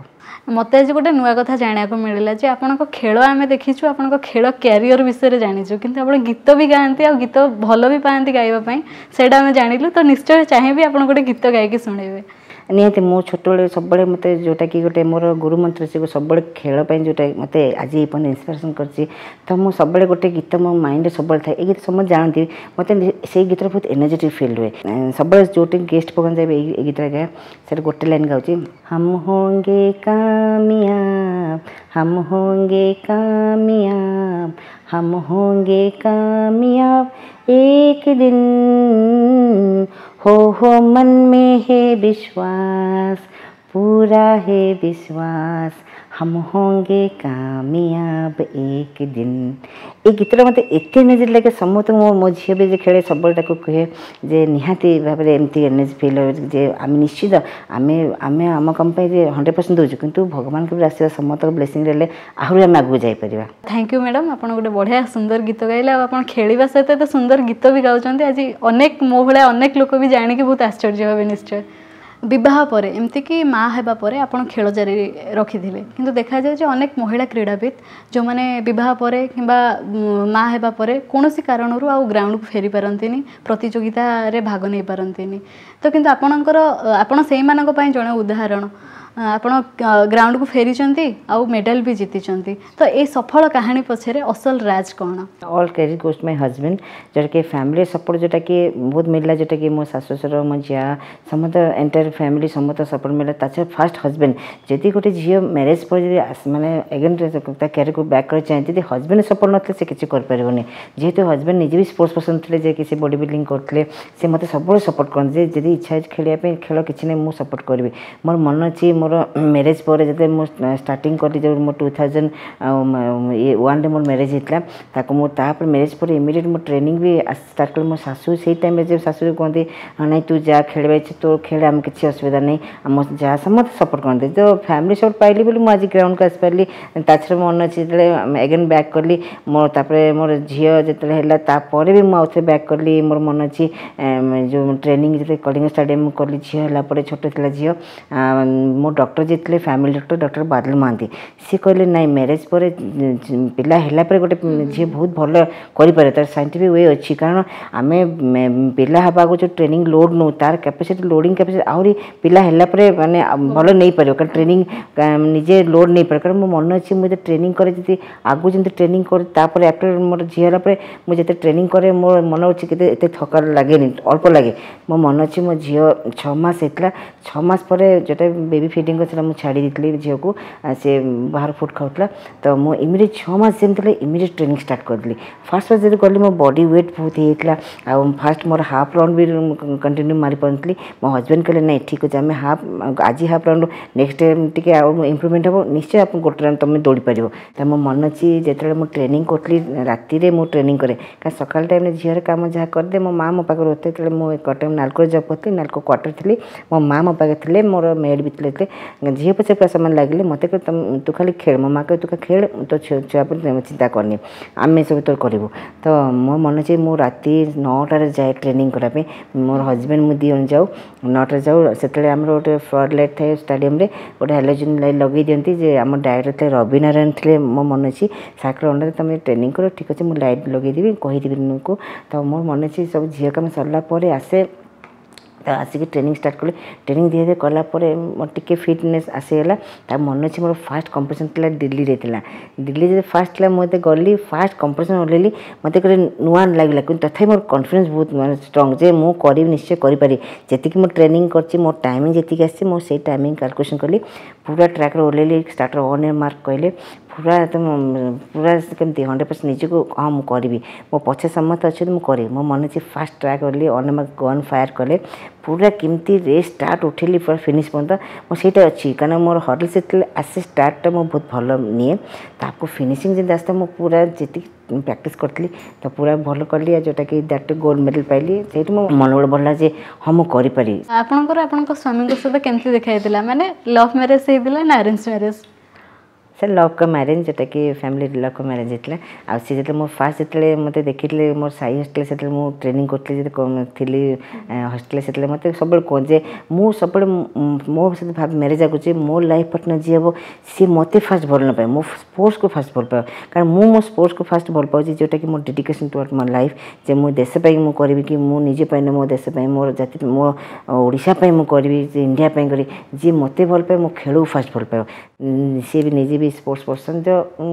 ମୋତେ ଆଜି ଗୋଟେ ନୂଆ କଥା ଜାଣିବାକୁ ମିଳିଲା ଯେ ଆପଣଙ୍କ ଖେଳ ଆମେ ଦେଖିଛୁ, ଆପଣଙ୍କ ଖେଳ କ୍ୟାରିୟର ବିଷୟରେ ଜାଣିଛୁ, କିନ୍ତୁ ଆପଣ ଗୀତ ବି ଗାଆନ୍ତି ଆଉ ଗୀତ ଭଲ ବି ପାଆନ୍ତି ଗାଇବା ପାଇଁ, ସେଇଟା ଆମେ ଜାଣିଲୁ। ତ ନିଶ୍ଚୟ ଚାହିଁବି ଆପଣ ଗୋଟେ ଗୀତ ଗାଇକି ଶୁଣେଇବେ।
ନିହାତି। ମୁଁ ଛୋଟବେଳେ ସବୁବେଳେ ମୋତେ ଯେଉଁଟାକି ଗୋଟେ ମୋର ଗୁରୁ ମନ୍ତ୍ର, ସେ ସବୁବେଳେ ଖେଳ ପାଇଁ ଯେଉଁଟା ମୋତେ ଆଜି ଏ ପର୍ଯ୍ୟନ୍ତ ଇନ୍ସପିରେସନ୍ କରିଛି। ତ ମୁଁ ସବୁବେଳେ ଗୋଟେ ଗୀତ ମୋ ମାଇଣ୍ଡରେ ସବୁବେଳେ ଥାଏ। ଏ ଗୀତ ସମସ୍ତେ ଜାଣନ୍ତି। ମୋତେ ସେଇ ଗୀତରେ ବହୁତ ଏନର୍ଜେଟିକ୍ ଫିଲ୍ ହୁଏ। ସବୁବେଳେ ଯେଉଁଠି ଗେଷ୍ଟ ପ୍ରୋଗ୍ରାମ୍ ଯାଏ, ଏଇ ଗୀତଟା ଗାଏ। ସେଟା ଗୋଟେ ଲାଇନ୍ ଗାଉଛି। हम होंगे कामयाब, हम होंगे कामयाब, हम होंगे कामयाब एक दिन, हो मन में है विश्वास, पूरा है विश्वास, हम होंगे कामयाब एक दिन। ଏଇ ଗୀତଟା ମୋତେ ଏତେ ଏନର୍ଜି ଲାଗେ ସମସ୍ତଙ୍କୁ। ମୋ ଝିଅ ବି ଯେ ଖେଳେ, ସବୁବେଳେ ତାକୁ କୁହେ ଯେ ନିହାତି ଭାବରେ ଏମିତି ଏନର୍ଜି ଫିଲ୍ ହେବ ଯେ ଆମେ ନିଶ୍ଚିତ ଆମେ ଆମ କାମ ପାଇଁ ଯେ 100% ଦେଉଛୁ, କିନ୍ତୁ ଭଗବାନଙ୍କ ବି ଆଶୀର୍ବାଦ, ସମସ୍ତଙ୍କ ବ୍ଲେସିଂ ରହିଲେ ଆହୁରି ଆମେ ଆଗକୁ ଯାଇପାରିବା।
Thank you madam. ଆପଣ ଗୋଟେ ବଢ଼ିଆ ସୁନ୍ଦର ଗୀତ ଗାଇଲେ ଆଉ ଆପଣ ଖେଳିବା ସହିତ ଏତେ ସୁନ୍ଦର ଗୀତ ବି ଗାଉଛନ୍ତି। ଆଜି ଅନେକ ମୋ ଭଳିଆ ଅନେକ ଲୋକ ବି ଜାଣିକି ବହୁତ ଆଶ୍ଚର୍ଯ୍ୟ ହେବେ ନିଶ୍ଚୟ। ବିବାହ ପରେ, ଏମିତିକି ମା ହେବା ପରେ ଆପଣ ଖେଳ ଜାରି ରଖିଥିଲେ, କିନ୍ତୁ ଦେଖାଯାଏ ଯେ ଅନେକ ମହିଳା କ୍ରୀଡ଼ାବିତ୍ ଯେଉଁମାନେ ବିବାହ ପରେ କିମ୍ବା ମା ହେବା ପରେ କୌଣସି କାରଣରୁ ଆଉ ଗ୍ରାଉଣ୍ଡକୁ ଫେରି ପାରନ୍ତିନି, ପ୍ରତିଯୋଗିତାରେ ଭାଗ ନେଇପାରନ୍ତିନି। ତ କିନ୍ତୁ ଆପଣଙ୍କର, ଆପଣ ସେଇମାନଙ୍କ ପାଇଁ ଜଣେ ଉଦାହରଣ। ଆପଣ ଗ୍ରାଉଣ୍ଡକୁ ଫେରିଛନ୍ତି ଆଉ ମେଡ଼ାଲ ବି ଜିତିଛନ୍ତି। ତ ଏଇ ସଫଳ କାହାଣୀ ପଛରେ ଅସଲ ରାଜ କ'ଣ?
All credit goes my husband, ଯେଉଁଟାକି ଫ୍ୟାମିଲି ସପୋର୍ଟ ଯେଉଁଟାକି ବହୁତ ମିଳିଲା, ଯେଉଁଟାକି ମୋ ଶାଶୁ ଶ୍ୱଶୁର, ମୋ ଯା, ସମସ୍ତ ଏଣ୍ଟାୟାର ଫ୍ୟାମିଲି, ସମସ୍ତ ସପୋର୍ଟ ମିଳିଲା। ତା ଛଡ଼ା ଫାର୍ଷ୍ଟ ହଜବେଣ୍ଡ। ଯଦି ଗୋଟେ ଝିଅ ମ୍ୟାରେଜ୍ ପରେ ଯଦି ମାନେ ଏଗେନ୍ ତା କ୍ୟାରିୟରକୁ ବ୍ୟାକ୍ କରିବାକୁ ଚାହେଁ, ଯଦି ହଜବେଣ୍ଡ ସପୋର୍ଟ ନଥିଲେ ସେ କିଛି କରିପାରିବନି। ଯେହେତୁ ହଜବେଣ୍ଡ ନିଜେ ବି ସ୍ପୋର୍ଟସ୍ ପର୍ସନ୍ ଥିଲେ, ଯେ କି ସେ ବଡି ବିଲ୍ଡିଂ କରୁଥିଲେ, ସେ ମୋତେ ସବୁବେଳେ ସପୋର୍ଟ କରନ୍ତି ଯେ ଯଦି ଇଚ୍ଛା ଅଛି ଖେଳିବା ପାଇଁ ଖେଳ, କିଛି ନାହିଁ, ମୁଁ ସପୋର୍ଟ କରିବି। ମୋର ମନେ ଅଛି, ମୋର ମ୍ୟାରେଜ୍ ପରେ ଯେତେବେଳେ ମୁଁ ଷ୍ଟାର୍ଟିଂ କଲି, ଯେଉଁ ମୋ 2001ରେ ମୋର ମ୍ୟାରେଜ୍ ହେଇଥିଲା, ତାକୁ ମୁଁ ତାପରେ ମ୍ୟାରେଜ୍ ପରେ ଇମିଡ଼ିଏଟ୍ ମୁଁ ଟ୍ରେନିଂ ବି ଷ୍ଟାର୍ଟ କଲି। ମୋ ଶାଶୁ ସେଇ ଟାଇମ୍ରେ ଯେ ଶାଶୁ କୁହନ୍ତି, ନାଇଁ, ତୁ ଯା, ଖେଳିବା ଇଚ୍ଛା ତୋର ଖେଳେ, ଆମେ କିଛି ଅସୁବିଧା ନାହିଁ। ଆମ ଯାହା ସମସ୍ତେ ସପୋର୍ଟ କରନ୍ତି। ତ ଫ୍ୟାମିଲି ସପୋର୍ଟ ପାଇଲି ବୋଲି ମୁଁ ଆଜି ଗ୍ରାଉଣ୍ଡକୁ ଆସିପାରିଲି। ତା ଛଡ଼ା ମନେ ଅଛି, ଯେତେବେଳେ ଏଗେନ୍ ବ୍ୟାକ୍ କଲି, ମୋ ତାପରେ ମୋର ଝିଅ ଯେତେବେଳେ ହେଲା, ତାପରେ ବି ମୁଁ ଆଉଥରେ ବ୍ୟାକ୍ କଲି। ମୋର ମନେ ଅଛି, ଯେଉଁ ଟ୍ରେନିଂ ଯେତେବେଳେ କଳିଙ୍ଗ ଷ୍ଟାଡ଼ିୟମ୍ କଲି, ଝିଅ ହେଲା ପରେ, ଛୋଟ ଥିଲା ଝିଅ, ମୋ ଡକ୍ଟର ଯିଏ ଥିଲେ, ଫ୍ୟାମିଲି ଡକ୍ଟର, ଡକ୍ଟର ବାଦଲ ମହାନ୍ତି, ସିଏ କହିଲେ, ନାଇଁ, ମ୍ୟାରେଜ୍ ପରେ ପିଲା ହେଲା ପରେ ଗୋଟେ ଝିଅ ବହୁତ ଭଲ କରିପାରେ, ତାର ସାଇଣ୍ଟିଫିକ୍ we ଅଛି। କାରଣ ଆମେ ପିଲା ହେବା ଆଗରୁ ଯେଉଁ ଟ୍ରେନିଂ ଲୋଡ଼ ନେଉ, ତାର କ୍ୟାପାସିଟି, ଲୋଡ଼ିଂ କ୍ୟାପାସିଟି ଆହୁରି ପିଲା ହେଲା ପରେ ମାନେ ଭଲ ନେଇପାରିବ, କାରଣ ଟ୍ରେନିଂ ନିଜେ ଲୋଡ଼ ନେଇପାରିବ। କାରଣ ମୋ ମନେ ଅଛି, ମୁଁ ଯେତେ ଟ୍ରେନିଂ କରେ, ଯଦି ଆଗକୁ ଯେମିତି ଟ୍ରେନିଂ କରେ, ତାପରେ ଆଫ୍ଟର ମୋର ଝିଅ ହେଲା ପରେ ମୁଁ ଯେତେ ଟ୍ରେନିଂ କରେ, ମୋର ମନେ ଅଛି କେତେ ଏତେ ଥକା ଲାଗେନି, ଅଳ୍ପ ଲାଗେ। ମୋ ମନେ ଅଛି, ମୋ ଝିଅ 6 ମାସ ହେଇଥିଲା। 6 ମାସ ପରେ ଯେଉଁଟା ବେବି ଫିଡ଼ିଂ କରିଥିଲା, ମୁଁ ଛାଡ଼ି ଦେଇଥିଲି ଝିଅକୁ, ସେ ବାହାର ଫୁଡ଼୍ ଖାଉଥିଲା। ତ ମୁଁ ଇମିଡ଼ିଏଟ୍ 6 ମାସ ଯେମିତି ଥିଲା, ଇମିଡ଼ିଏଟ୍ ଟ୍ରେନିଂ ଷ୍ଟାର୍ଟ କରିଦେଲି। ଫାର୍ଷ୍ଟ ଫାର୍ଷ୍ଟ ଯଦି ଗଲି, ମୋ ବଡି ୱେଟ୍ ବହୁତ ହେଇଯାଇଥିଲା ଆଉ ଫାର୍ଷ୍ଟ ମୋର ହାଫ୍ ରାଉଣ୍ଡ ବି କଣ୍ଟିନ୍ୟୁ ମାରିପାରୁନଥିଲି। ମୋ ହଜବେଣ୍ଡ କହିଲେ, ନାଇଁ, ଠିକ୍ ଅଛି, ଆମେ ହାଫ୍ ଆଜି ହାଫ୍ ରାଉଣ୍ଡ, ନେକ୍ସଟ ଟାଇମ୍ ଟିକେ ଆଉ ଇମ୍ପ୍ରୁଭମେଣ୍ଟ ହେବ, ନିଶ୍ଚୟ ଆପଣ ଗୋଟେ ରାଉଣ୍ଡ ତୁମେ ଦୌଡ଼ି ପାରିବ। ତ ମୋ ମନେ ଅଛି, ଯେତେବେଳେ ମୁଁ ଟ୍ରେନିଂ କରୁଥିଲି, ରାତିରେ ମୁଁ ଟ୍ରେନିଂ କରେ, କାରଣ ସକାଳ ଟାଇମ୍ରେ ଝିଅର କାମ ଯାହା କରିଦିଏ, ମୋ ମା' ମୋ ପାଖରେ ରହୁଥିଲେ। ଯେତେବେଳେ ମୁଁ କଟକ ନାଲକୋରେ ଜବ୍ କରୁଥିଲି, ନାଲକୋ କ୍ୱାର୍ଟର ଥିଲି, ମୋ ମା' ମୋ ପାଖରେ ଥିଲେ, ମୋର ମେଡ଼୍ ବି ଥିଲେ। ଝିଅ ପଛରେ ପୁରା ସେମାନେ ଲାଗିଲେ। ମୋତେ କହିଲେ, ତୁ ଖାଲି ଖେଳ। ମୋ ମା' କହିଲେ, ତୁ ଖାଲି ଖେଳ, ତୋ ଛୁଆ ଉପରେ ଚିନ୍ତା କରନି, ଆମେ ସବୁ ତୋର କରିବୁ। ତ ମୋ ମନେ ଅଛି, ମୁଁ ରାତି 9ଟାରେ ଯାଏ ଟ୍ରେନିଂ କରିବା ପାଇଁ। ମୋର ହଜବେଣ୍ଡ ମୁଁ ଦୁଇ ଜଣ ଯାଉ, 9ଟାରେ ଯାଉ। ସେତେବେଳେ ଆମର ଗୋଟେ ଫ୍ଲଡ଼ ଲାଇଟ୍ ଥାଏ ଷ୍ଟାଡ଼ିୟମରେ, ଗୋଟେ ହାଲୋଜିନ୍ ଲାଇଟ୍ ଲଗେଇ ଦିଅନ୍ତି ଯେ ଆମ ଡାଇରେକ୍ଟର ଥିଲେ ରବି ନାରାୟଣ ଥିଲେ, ମୋ ମନେ ଅଛି। ସାର୍ଙ୍କ ଅଣ୍ଡରରେ ତୁମେ ଟ୍ରେନିଂ କର, ଠିକ୍ ଅଛି, ମୁଁ ଲାଇଟ୍ ଲଗେଇଦେବି, କହିଦେବି ତୁମକୁ। ତ ମୋର ମନେ ଅଛି, ସବୁ ଝିଅ କାମ ସରିଲା ପରେ ଆସେ, ତ ଆସିକି ଟ୍ରେନିଂ ଷ୍ଟାର୍ଟ କଲି। ଟ୍ରେନିଂ ଧୀରେ ଧୀରେ କଲା ପରେ ମୋର ଟିକେ ଫିଟନେସ୍ ଆସିଗଲା। ତା ମନେ ଅଛି, ମୋର ଫାର୍ଷ୍ଟ କମ୍ପିଟିସନ୍ ଥିଲା ଦିଲ୍ଲୀରେ ଥିଲା। ଦିଲ୍ଲୀରେ ଯେତେ ଫାର୍ଷ୍ଟ ଥିଲା, ମୁଁ ଯେତେ ଗଲି, ଫାର୍ଷ୍ଟ କମ୍ପିଟିସନ୍ ଓହ୍ଲେଇଲି, ମୋତେ ଗୋଟେ ନୂଆ ଲାଗିଲା, କିନ୍ତୁ ତଥାପି ମୋର କନଫିଡେନ୍ସ ବହୁତ ମାନେ ଷ୍ଟ୍ରଙ୍ଗ ଯେ ମୁଁ କରିବି, ନିଶ୍ଚୟ କରିପାରିବି। ଯେତିକି ମୁଁ ଟ୍ରେନିଂ କରିଛି, ମୋ ଟାଇମିଂ ଯେତିକି ଆସିଛି, ମୁଁ ସେଇ ଟାଇମିଂ କାଲକୁଲେସନ୍ କଲି। ପୁରା ଟ୍ରାକ୍ରେ ଓହ୍ଲେଇଲି, ଷ୍ଟାର୍ଟର ଅନ୍ ମାର୍କ କହିଲେ, ପୁରା ଏକଦମ ପୁରା କେମିତି 100% ନିଜକୁ, ହଁ, ମୁଁ କରିବି, ମୋ ପଛେ ସମସ୍ତେ ଅଛନ୍ତି, ମୁଁ କରିବି। ମୋ ମନେ ଅଛି, ଫାର୍ଷ୍ଟ ଟ୍ରାକ୍ ଓହ୍ଲେଇଲି, ଅନ୍ ମାର୍କ ଗନ୍ ଫାୟାର୍ କଲେ, ପୁରା କେମିତି ରେସ୍ ଷ୍ଟାର୍ଟ ଉଠେଇଲି ପୁରା ଫିନିଶ୍ ପର୍ଯ୍ୟନ୍ତ ମୁଁ ସେଇଟା ଅଛି। କାରଣ ମୋର ହର୍ଡଲ୍ସ ଯେତେବେଳେ ଆସେ, ଷ୍ଟାର୍ଟଟା ମୁଁ ବହୁତ ଭଲ ନିଏ, ତାକୁ ଫିନିସିଂ ଯେମିତି ଆସିଥାଏ, ମୁଁ ପୁରା ଯେତିକି ପ୍ରାକ୍ଟିସ୍ କରିଥିଲି ତ ପୁରା ଭଲ କଲି ଆଉ ଯେଉଁଟାକି that gold medal ପାଇଲି। ସେଇଠି ମୋ ମନୋବଳ ବଢ଼ିଲା ଯେ ହଁ, ମୁଁ କରିପାରିବି।
ଆପଣଙ୍କର ଆପଣଙ୍କ ସ୍ୱାମୀଙ୍କ ସହିତ କେମିତି ଦେଖା ହେଇଥିଲା? ମାନେ ଲଭ୍ ମ୍ୟାରେଜ୍ ହେଇଥିଲା ନା ଆରେଞ୍ଜ ମ୍ୟାରେଜ୍?
ସେ ଲଭ୍ କମ୍ ମ୍ୟାରେଜ୍, ଯେଉଁଟାକି ଫ୍ୟାମିଲି ଲଭ୍ କମ୍ ମ୍ୟାରେଜ୍ ହେଇଥିଲା। ଆଉ ସେ ଯେତେବେଳେ ମୁଁ ଫାଷ୍ଟ ଯେତେବେଳେ ମୋତେ ଦେଖିଥିଲେ ମୋର ସାଇ ହଷ୍ଟେଲ, ସେତେବେଳେ ମୁଁ ଟ୍ରେନିଂ କରୁଥିଲି, ଯେତେ ଥିଲି ହଷ୍ଟେଲରେ, ସେତେବେଳେ ମୋତେ ସବୁବେଳେ କୁହନ୍ତି ଯେ ମୁଁ ସବୁବେଳେ ମୋ ସହିତ ଭାବେ ମ୍ୟାରେଜ୍ ଆଗୁଛି, ମୋ ଲାଇଫ୍ ପାର୍ଟନର୍ ଯିଏ ହେବ ସିଏ ମୋତେ ଫାଷ୍ଟ ଭଲ ନ ପାଏ, ମୋ ସ୍ପୋର୍ଟସକୁ ଫାଷ୍ଟ ଭଲ ପାଏ। କାରଣ ମୁଁ ମୋ ସ୍ପୋର୍ଟସକୁ ଫାଷ୍ଟ ଭଲ ପାଉଛି, ଯେଉଁଟାକି ମୋ ଡେଡିକେସନ୍ ଟୁୱାର୍ଡ଼ ମୋ ଲାଇଫ୍, ଯେ ମୁଁ ଦେଶ ପାଇଁ ମୁଁ କରିବି କି ମୁଁ ନିଜ ପାଇଁ ନୁହେଁ, ମୋ ଦେଶ ପାଇଁ, ମୋର ଜାତି, ମୋ ଓଡ଼ିଶା ପାଇଁ ମୁଁ କରିବି, ଯେ ଇଣ୍ଡିଆ ପାଇଁ କରିବି। ଯିଏ ମୋତେ ଭଲ ପାଏ, ମୋ ଖେଳକୁ ଫାଷ୍ଟ ଭଲ ପାଇବ। ସିଏ ବି ନିଜେ ବି ସ୍ପୋର୍ଟସ୍ ପର୍ସନ୍। ତ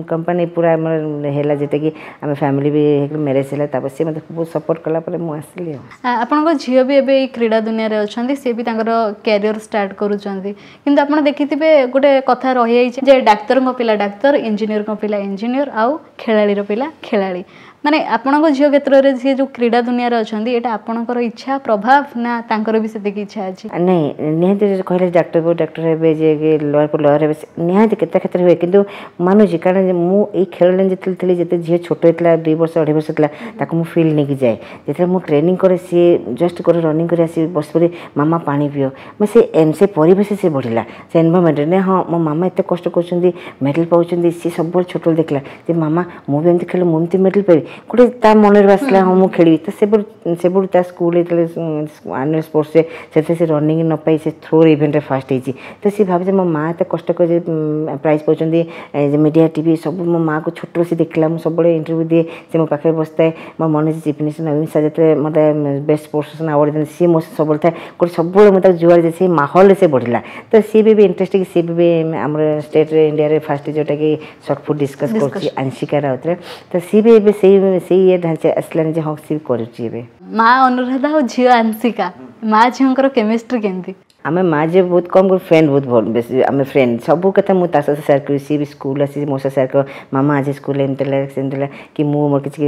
କମ୍ପାନୀ ପୁରା ଆମର ହେଲା, ଯେଉଁଟାକି ଆମେ ଫ୍ୟାମିଲି ବି ମ୍ୟାରେଜ୍ ହେଲା, ତାପରେ ସିଏ ମୋତେ ବହୁତ ସପୋର୍ଟ କଲା ପରେ ମୁଁ ଆସିଲି। ଆଉ
ଆପଣଙ୍କ ଝିଅ ବି ଏବେ ଏଇ କ୍ରୀଡ଼ା ଦୁନିଆରେ ଅଛନ୍ତି, ସିଏ ବି ତାଙ୍କର କ୍ୟାରିୟର ଷ୍ଟାର୍ଟ କରୁଛନ୍ତି। କିନ୍ତୁ ଆପଣ ଦେଖିଥିବେ ଗୋଟେ କଥା ରହିଯାଇଛି ଯେ ଡାକ୍ତରଙ୍କ ପିଲା ଡାକ୍ତର, ଇଞ୍ଜିନିୟରଙ୍କ ପିଲା ଇଞ୍ଜିନିୟର, ଆଉ ଖେଳାଳିର ପିଲା ଖେଳାଳି। ମାନେ ଆପଣଙ୍କ ଝିଅ କ୍ଷେତ୍ରରେ ସିଏ ଯେଉଁ କ୍ରୀଡ଼ା ଦୁନିଆରେ ଅଛନ୍ତି, ଏଇଟା ଆପଣଙ୍କର ଇଚ୍ଛା ପ୍ରଭାବ ନା ତାଙ୍କର ବି ସେତିକି ଇଚ୍ଛା ଅଛି?
ନାଇଁ, ନିହାତି କହିଲେ ଡାକ୍ତର ଡାକ୍ତର ହେବେ, ଯେ ଲୟର ଲୟର ହେବେ, ନିହାତି କେତେ କ୍ଷେତ୍ରରେ ହୁଏ। କିନ୍ତୁ ମାନୁଛି, କାରଣ ମୁଁ ଏଇ ଖେଳ ଯେତେବେଳେ ଥିଲି, ଯେତେ ଝିଅ ଛୋଟ ହେଇଥିଲା, 2 ବର୍ଷ 2.5 ବର୍ଷ ଥିଲା, ତାକୁ ମୁଁ ଫିଲ୍ଡ ନେଇକି ଯାଏ। ଯେତେବେଳେ ମୁଁ ଟ୍ରେନିଂ କରେ, ସିଏ ଜଷ୍ଟ କରି ରନିଂ କରି ଆସି ବସିପଡ଼ି, ମାମା ପାଣି ପିଅ। ମୁଁ ସେ ପରିବେଶ ସେ ବଢ଼ିଲା ସେ ଏନଭାରମେଣ୍ଟରେ, ନାଇଁ ହଁ ମୋ ମାମା ଏତେ କଷ୍ଟ କରୁଛନ୍ତି, ମେଡ଼ାଲ୍ ପାଉଛନ୍ତି। ସିଏ ସବୁବେଳେ ଛୋଟବେଳେ ଦେଖିଲା ଯେ ମାମା ମୁଁ ବି ଏମିତି ଖେଳିଲେ ମୁଁ ଏମିତି ମେଡ଼ାଲ୍ ପାଇବି, ଗୋଟେ ତା ମନରେ ଆସିଲା ହଁ ମୁଁ ଖେଳିବି। ତ ସେବେଠୁ ତା ସ୍କୁଲ ଯେତେବେଳେ ଆନୁଆଲ୍ ସ୍ପୋର୍ଟସରେ, ସେଥିରେ ସେ ରନିଂ ନ ପାଇ ସେ ଥ୍ରୋ ଇଭେଣ୍ଟରେ ଫାଷ୍ଟ ହେଇଛି। ତ ସେ ଭାବୁଛି ମୋ ମା ଏତେ କଷ୍ଟ କରି ପ୍ରାଇଜ୍ ପାଉଛନ୍ତି, ମିଡ଼ିଆ ଟିଭି ସବୁ ମୋ ମାଆକୁ ଛୋଟରୁ ସେ ଦେଖିଲା। ମୁଁ ସବୁବେଳେ ଇଣ୍ଟରଭ୍ୟୁ ଦିଏ, ସେ ମୋ ପାଖରେ ବସିଥାଏ। ମୋ ମନେ ଅଛି ଚିଫ୍ ମିନିଷ୍ଟର ନବୀନ ସାର୍ ଯେତେବେଳେ ମୋତେ ବେଷ୍ଟ ସ୍ପୋର୍ଟସ୍ ପର୍ସନ୍ ଆୱାର୍ଡ଼ ଦିଅନ୍ତି, ସିଏ ମୋ ସହିତ ସବୁବେଳେ ଥାଏ। ଗୋଟେ ସବୁବେଳେ ମୁଁ ତାକୁ ଯୁଆଡ଼େ ଯାଏ ସେଇ ମାହୋଲରେ ସେ ବଢ଼ିଲା। ତ ସିଏ ବି ଇଣ୍ଟରେଷ୍ଟ, ସିଏ ବି ଆମର ଷ୍ଟେଟ୍ରେ ଇଣ୍ଡିଆରେ ଫାଷ୍ଟ, ଯେଉଁଟାକି ସର୍ଟ ଫୁଟ୍ ଡିସ୍କସ୍ କରୁଛି ଆଂଶିକା ରାଉତରେ। ତ ସିଏ ବି ଏବେ ସେଇ ଇଏ ଢାଞ୍ଚା ଆସିଲାଣି ଯେ ହଁ ସିଏ ବି କରୁଛି ଏବେ।
ମା ଅନୁରାଧା ଆଉ ଝିଅ ଆଂଶିକା, ମା ଝିଅଙ୍କର କେମିଷ୍ଟ୍ରି କେମିତି?
ଆମେ ମା ଝିଅ ବହୁତ କମ୍, ଫ୍ରେଣ୍ଡ ବହୁତ ଭଲ ବେଶୀ। ଆମେ ଫ୍ରେଣ୍ଡ, ସବୁ କଥା ମୁଁ ତା ସହିତ ସେୟାର କରିବି। ସିଏ ବି ସ୍କୁଲ ଆସି ମୋ ସହିତ ସେୟାର କରିବ, ମାମା ଆଜି ସ୍କୁଲରେ ଏମିତି ହେଲା ସେମିତି ହେଲା, କି ମୁଁ ମୋର କିଛି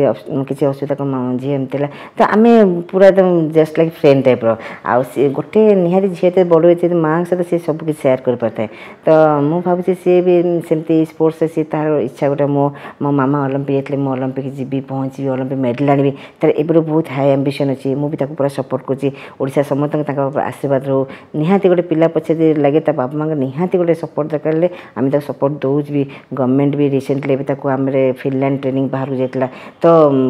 କିଛି ଅସୁବିଧା କ'ଣ ଝିଅ ଏମିତି ହେଲା। ତ ଆମେ ପୁରା ଏକଦମ ଜଷ୍ଟ ଲାଇକ୍ ଫ୍ରେଣ୍ଡ ଟାଇପ୍ର। ଆଉ ସିଏ ଗୋଟେ ନିହାତି ଝିଅ ଏତେ ବଡ଼ ହେଇଛି, ମାଆଙ୍କ ସହିତ ସିଏ ସବୁ କିଛି ସେୟାର କରିପାରିଥାଏ। ତ ମୁଁ ଭାବୁଛି ସିଏ ବି ସେମିତି ସ୍ପୋର୍ଟସରେ ସିଏ ତାର ଇଚ୍ଛା ଗୋଟେ, ମୋ ମାମା ଅଲମ୍ପିକ୍ ଯାଇଥିଲେ, ମୁଁ ଅଲମ୍ପିକ୍ ଯିବି, ପହଞ୍ଚିବି, ଅଲମ୍ପିକ୍ ମେଡ଼ାଲ୍ ଆଣିବି। ତାର ଏବେ ବହୁତ ହାଇ ଆମ୍ବିସନ୍ ଅଛି। ମୁଁ ବି ତାକୁ ପୁରା ସପୋର୍ଟ କରୁଛି। ଓଡ଼ିଶା ସମସ୍ତଙ୍କ ତାଙ୍କ ଆଶୀର୍ବାଦ ରହୁ। ନିହାତି ଗୋଟେ ପିଲା ପଛେ ଯଦି ଲାଗେ, ତା ବାପା ମାଆଙ୍କ ନିହାତି ଗୋଟେ ସପୋର୍ଟ ଦରକାର ହେଲେ ଆମେ ତାକୁ ସପୋର୍ଟ ଦେଉଛୁ ବି। ଗଭର୍ଣ୍ଣମେଣ୍ଟ ବି ରିସେଣ୍ଟଲି ଏବେ ତାକୁ ଆମର ଫିନଲାଣ୍ଡ ଟ୍ରେନିଂ ବାହାରକୁ ଯାଇଥିଲା, ତ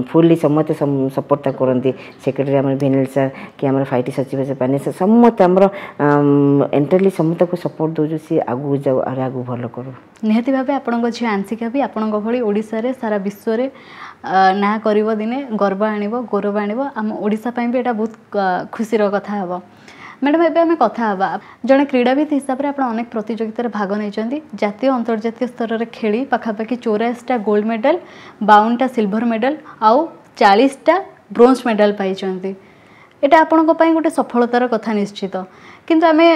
ଫୁଲି ସମସ୍ତେ ସପୋର୍ଟ ତାକୁ କରନ୍ତି। ସେକ୍ରେଟାରୀ ଆମର ଭିନିଲ ସାର୍ କି ଆମର ଫାଇଟି ସଚିବ ପାନି ସାର୍, ସମସ୍ତେ ଆମର ଏଣ୍ଟାୟାରଲି ସମସ୍ତଙ୍କୁ ସପୋର୍ଟ ଦେଉଛୁ, ସିଏ ଆଗକୁ ଯାଉ, ଆହୁରି ଆଗକୁ ଭଲ କରୁ।
ନିହାତି ଭାବେ ଆପଣଙ୍କ ଝିଅ ଆଂଶିକା ବି ଆପଣଙ୍କ ଭଳି ଓଡ଼ିଶାରେ ସାରା ବିଶ୍ୱରେ ନାଁ କରିବ, ଦିନେ ଗର୍ବ ଆଣିବ, ଗୌରବ ଆଣିବ। ଆମ ଓଡ଼ିଶା ପାଇଁ ବି ଏଇଟା ବହୁତ ଖୁସିର କଥା ହେବ। ମ୍ୟାଡ଼ାମ୍, ଏବେ ଆମେ କଥା ହେବା, ଜଣେ କ୍ରୀଡ଼ାବିତ୍ ହିସାବରେ ଆପଣ ଅନେକ ପ୍ରତିଯୋଗିତାରେ ଭାଗ ନେଇଛନ୍ତି, ଜାତୀୟ ଅନ୍ତର୍ଜାତୀୟ ସ୍ତରରେ ଖେଳି ପାଖାପାଖି 84ଟା ଗୋଲ୍ଡ ମେଡ଼ାଲ, 52ଟା ସିଲଭର ମେଡ଼ାଲ ଆଉ 40ଟା ବ୍ରୋଞ୍ଜ ମେଡ଼ାଲ ପାଇଛନ୍ତି। ଏଇଟା ଆପଣଙ୍କ ପାଇଁ ଗୋଟେ ସଫଳତାର କଥା ନିଶ୍ଚିତ। କିନ୍ତୁ ଆମେ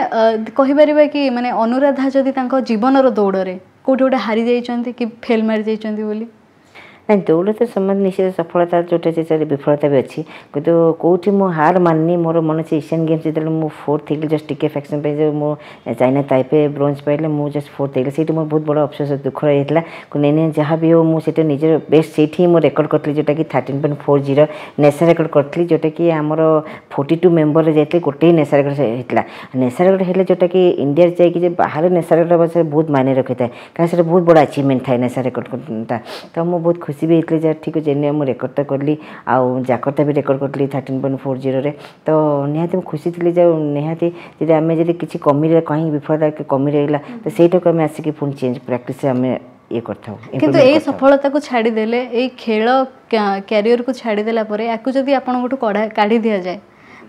କହିପାରିବା କି ମାନେ ଅନୁରାଧା ଯଦି ତାଙ୍କ ଜୀବନର ଦୌଡ଼ରେ କେଉଁଠି ଗୋଟେ ହାରି ଯାଇଛନ୍ତି କି ଫେଲ୍ ମାରି ଯାଇଛନ୍ତି ବୋଲି?
ନାଇଁ, ଦୌଡ଼ ତ ସେମାନେ ନିଶ୍ଚିତ ସଫଳତା ଯେଉଁଟା ଅଛି ସେଠି ବିଫଳତା ବି ଅଛି, କିନ୍ତୁ କେଉଁଠି ମୁଁ ହାର ମାନିନି। ମୋର ମନେ ଅଛି ଏସିଆନ୍ ଗେମ୍ସ ଯେତେବେଳେ ମୁଁ ଫୋର୍ଥ ହେଇଗଲି, ଜଷ୍ଟ ଟିକେ ଫ୍ୟାକ୍ସନ୍ ପାଇଁ, ଯେଉଁ ମୁଁ ଚାଇନା ତାଇପେ ବ୍ରୋଞ୍ଜ ପାଇଲେ, ମୁଁ ଜଷ୍ଟ ଫୋର୍ଥ ହେଇଗଲି, ସେଇଠି ମୋର ବହୁତ ବଡ଼ ଅଫସୋସ ଦୁଃଖ ରହିଯାଇଥିଲା। ନାଇଁ ନାଇଁ, ଯାହା ବି ହଉ ମୁଁ ସେଇଟା ନିଜର ବେଷ୍ଟ ସେଇଠି ହିଁ ମୁଁ ରେକର୍ଡ଼ କରିଥିଲି, ଯେଉଁଟାକି 13.40 ନ୍ୟାସନାଲ୍ ରେକର୍ଡ଼ କରିଥିଲି, ଯେଉଁଟାକି ଆମର 42 ମେମ୍ବରରେ ଯାଇଥିଲେ, ଗୋଟେ ହିଁ ନ୍ୟାସନାଲ୍ ରେକର୍ଡ଼ ହେଇଥିଲା। ନ୍ୟାସନାଲ୍ ରେକର୍ଡ଼ ହେଲେ ଯେଉଁଟାକି ଇଣ୍ଡିଆରେ ଯାଇକି ଯେ ବାହାରେ ନ୍ୟାସନାଲ୍ ରେକର୍ଡ଼ ହେବ, ସେଟା ବହୁତ ମାଇନେ ରଖିଥାଏ, କାରଣ ସେଇଟା ବହୁତ ବଡ଼ ଆଚିଭମେଣ୍ଟ ଥାଏ ନ୍ୟାସନାଲ୍ ରେକର୍ଡ଼ଟା। ତ ମୁଁ ବହୁତ ଖୁସି ବି ହେଇଥିଲି ଯେ ଠିକ୍ ଅଛି, ମୁଁ ରେକର୍ଡ଼ଟା କଲି, ଆଉ ଜାକର୍ତ୍ତା ବି ରେକର୍ଡ଼ କରିଥିଲି 13.40ରେ। ତ ନିହାତି ମୁଁ ଖୁସି ଥିଲି ଯେ ନିହାତି ଯଦି ଆମେ ଯଦି କିଛି କମି କାହିଁକି ବିଫଳତା କମି ରହିଲା, ତ ସେଇଟାକୁ ଆମେ ଆସିକି ପୁଣି ଚେଞ୍ଜ ପ୍ରାକ୍ଟିସ୍ ଆମେ ଇଏ କରିଥାଉ।
କିନ୍ତୁ ଏଇ ସଫଳତାକୁ ଛାଡ଼ିଦେଲେ, ଏଇ ଖେଳ କ୍ୟାରିୟରକୁ ଛାଡ଼ିଦେଲା ପରେ ୟାକୁ ଯଦି ଆପଣଙ୍କଠୁ କାଢ଼ି ଦିଆଯାଏ,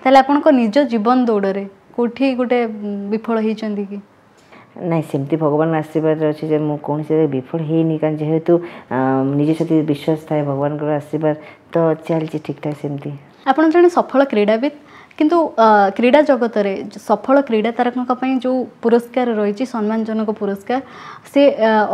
ତାହେଲେ ଆପଣଙ୍କ ନିଜ ଜୀବନ ଦୌଡ଼ରେ କେଉଁଠି ଗୋଟେ ବିଫଳ ହେଇଛନ୍ତି କି?
ନାଇଁ, ସେମିତି ଭଗବାନ ଆଶୀର୍ବାଦ ଅଛି ଯେ ମୁଁ କୌଣସି ବିଫଳ ହେଇନି, କାରଣ ଯେହେତୁ ନିଜ ସହିତ ବିଶ୍ୱାସ ଥାଏ, ଭଗବାନଙ୍କର ଆଶୀର୍ବାଦ, ତ ଚାଲିଛି ଠିକ୍ଠାକ୍ ସେମିତି।
ଆପଣ ଜଣେ ସଫଳ କ୍ରୀଡ଼ାବିତ୍, କିନ୍ତୁ କ୍ରୀଡ଼ା ଜଗତରେ ସଫଳ କ୍ରୀଡ଼ା ତାରକାଙ୍କ ପାଇଁ ଯେଉଁ ପୁରସ୍କାର ରହିଛି, ସମ୍ମାନଜନକ ପୁରସ୍କାର, ସେ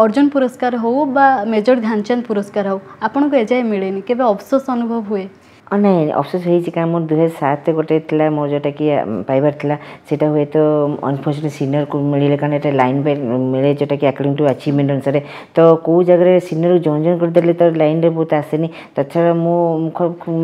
ଅର୍ଜୁନ ପୁରସ୍କାର ହେଉ ବା ମେଜର ଧ୍ୟାନଚାନ୍ଦ ପୁରସ୍କାର ହେଉ, ଆପଣଙ୍କୁ ଏଯାଏ ମିଳେନି। କେବେ ଅଫସୋସ ଅନୁଭବ ହୁଏ?
ନାଇଁ, ଅଫସୋସ ହେଇଛି, କାରଣ ମୋର 2007 ଗୋଟେ ଥିଲା ମୋର ଯେଉଁଟାକି ପାଇବାର ଥିଲା, ସେଇଟା ହୁଏତ ଅନଫର୍ଚୁନେଟ୍ ସିନିୟରକୁ ମିଳିଲେ, କାରଣ ଏଇଟା ଲାଇନ୍ ବାଇ ମିଳେ ଯେଉଁଟାକି ଆକର୍ଡ଼ିଂ ଟୁ ଆଚିଭମେଣ୍ଟ ଅନୁସାରେ। ତ କେଉଁ ଜାଗାରେ ସିନିୟରକୁ ଜଣେ ଜଣେ କରିଦେଲେ ତ ଲାଇନ୍ରେ ବହୁତ ଆସେନି। ତଛଡ଼ା ମୁଁ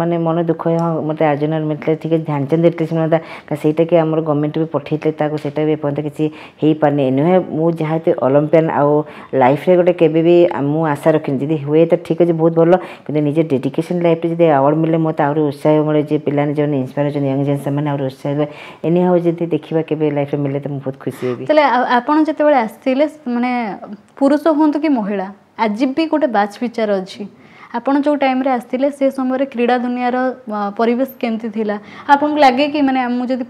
ମାନେ ମନ ଦୁଃଖ, ହଁ, ମୋତେ ଆର୍ଜୁନାର ମିଳିଥିଲା, ଠିକ୍ ଅଛି, ଧ୍ୟାନଚାନ୍ଦ ଏଟଲିଷ୍ଟ ମିଳନ୍ତା, କାରଣ ସେଇଟାକି ଆମର ଗଭର୍ଣ୍ଣମେଣ୍ଟ ବି ପଠେଇଥିଲେ ତାକୁ, ସେଇଟା ବି ଏପର୍ଯ୍ୟନ୍ତ କିଛି ହେଇପାରିନି। ନୁହେଁ, ମୁଁ ଯେହେତୁ ଅଲମ୍ପିଆନ୍ ଆଉ ଲାଇଫ୍ରେ ଗୋଟେ କେବେ ବି ମୁଁ ଆଶା ରଖିନି। ଯଦି ହୁଏ ତ ଠିକ୍ ଅଛି, ବହୁତ ଭଲ, କିନ୍ତୁ ନିଜ ଡେଡିକେସନ୍ ଲାଇଫ୍ରେ ଯଦି ଆୱାର୍ଡ଼ ମିଳିଲେ ମୋତେ ଆହୁରି ଉତ୍ସାହ ମିଳେ ଯେ ପିଲାମାନେ ଯେଉଁମାନେ ଇନ୍ସପାୟାର ହେଉଛନ୍ତି, ୟଙ୍ଗ ଜେନ୍, ସେମାନେ ଆହୁରି ଉତ୍ସାହ ହେବେ। ଏନି ହଉ, ଯଦି ଦେଖିବା କେବେ ଲାଇଫ୍ରେ ମିଳିଲେ ତ ମୁଁ ବହୁତ ଖୁସି ହେବି।
ତାହେଲେ ଆପଣ ଯେତେବେଳେ ଆସିଥିଲେ, ମାନେ ପୁରୁଷ ହୁଅନ୍ତୁ କି ମହିଳା, ଆଜି ବି ଗୋଟେ ବାଛ ବିଚାର ଅଛି। ଆପଣ ଯେଉଁ ଟାଇମ୍ରେ ଆସିଥିଲେ ସେ ସମୟରେ କ୍ରୀଡ଼ା ଦୁନିଆର ପରିବେଶ କେମିତି ଥିଲା? ଆପଣଙ୍କୁ ଲାଗେ କି ମାନେ ମୁଁ ଯଦି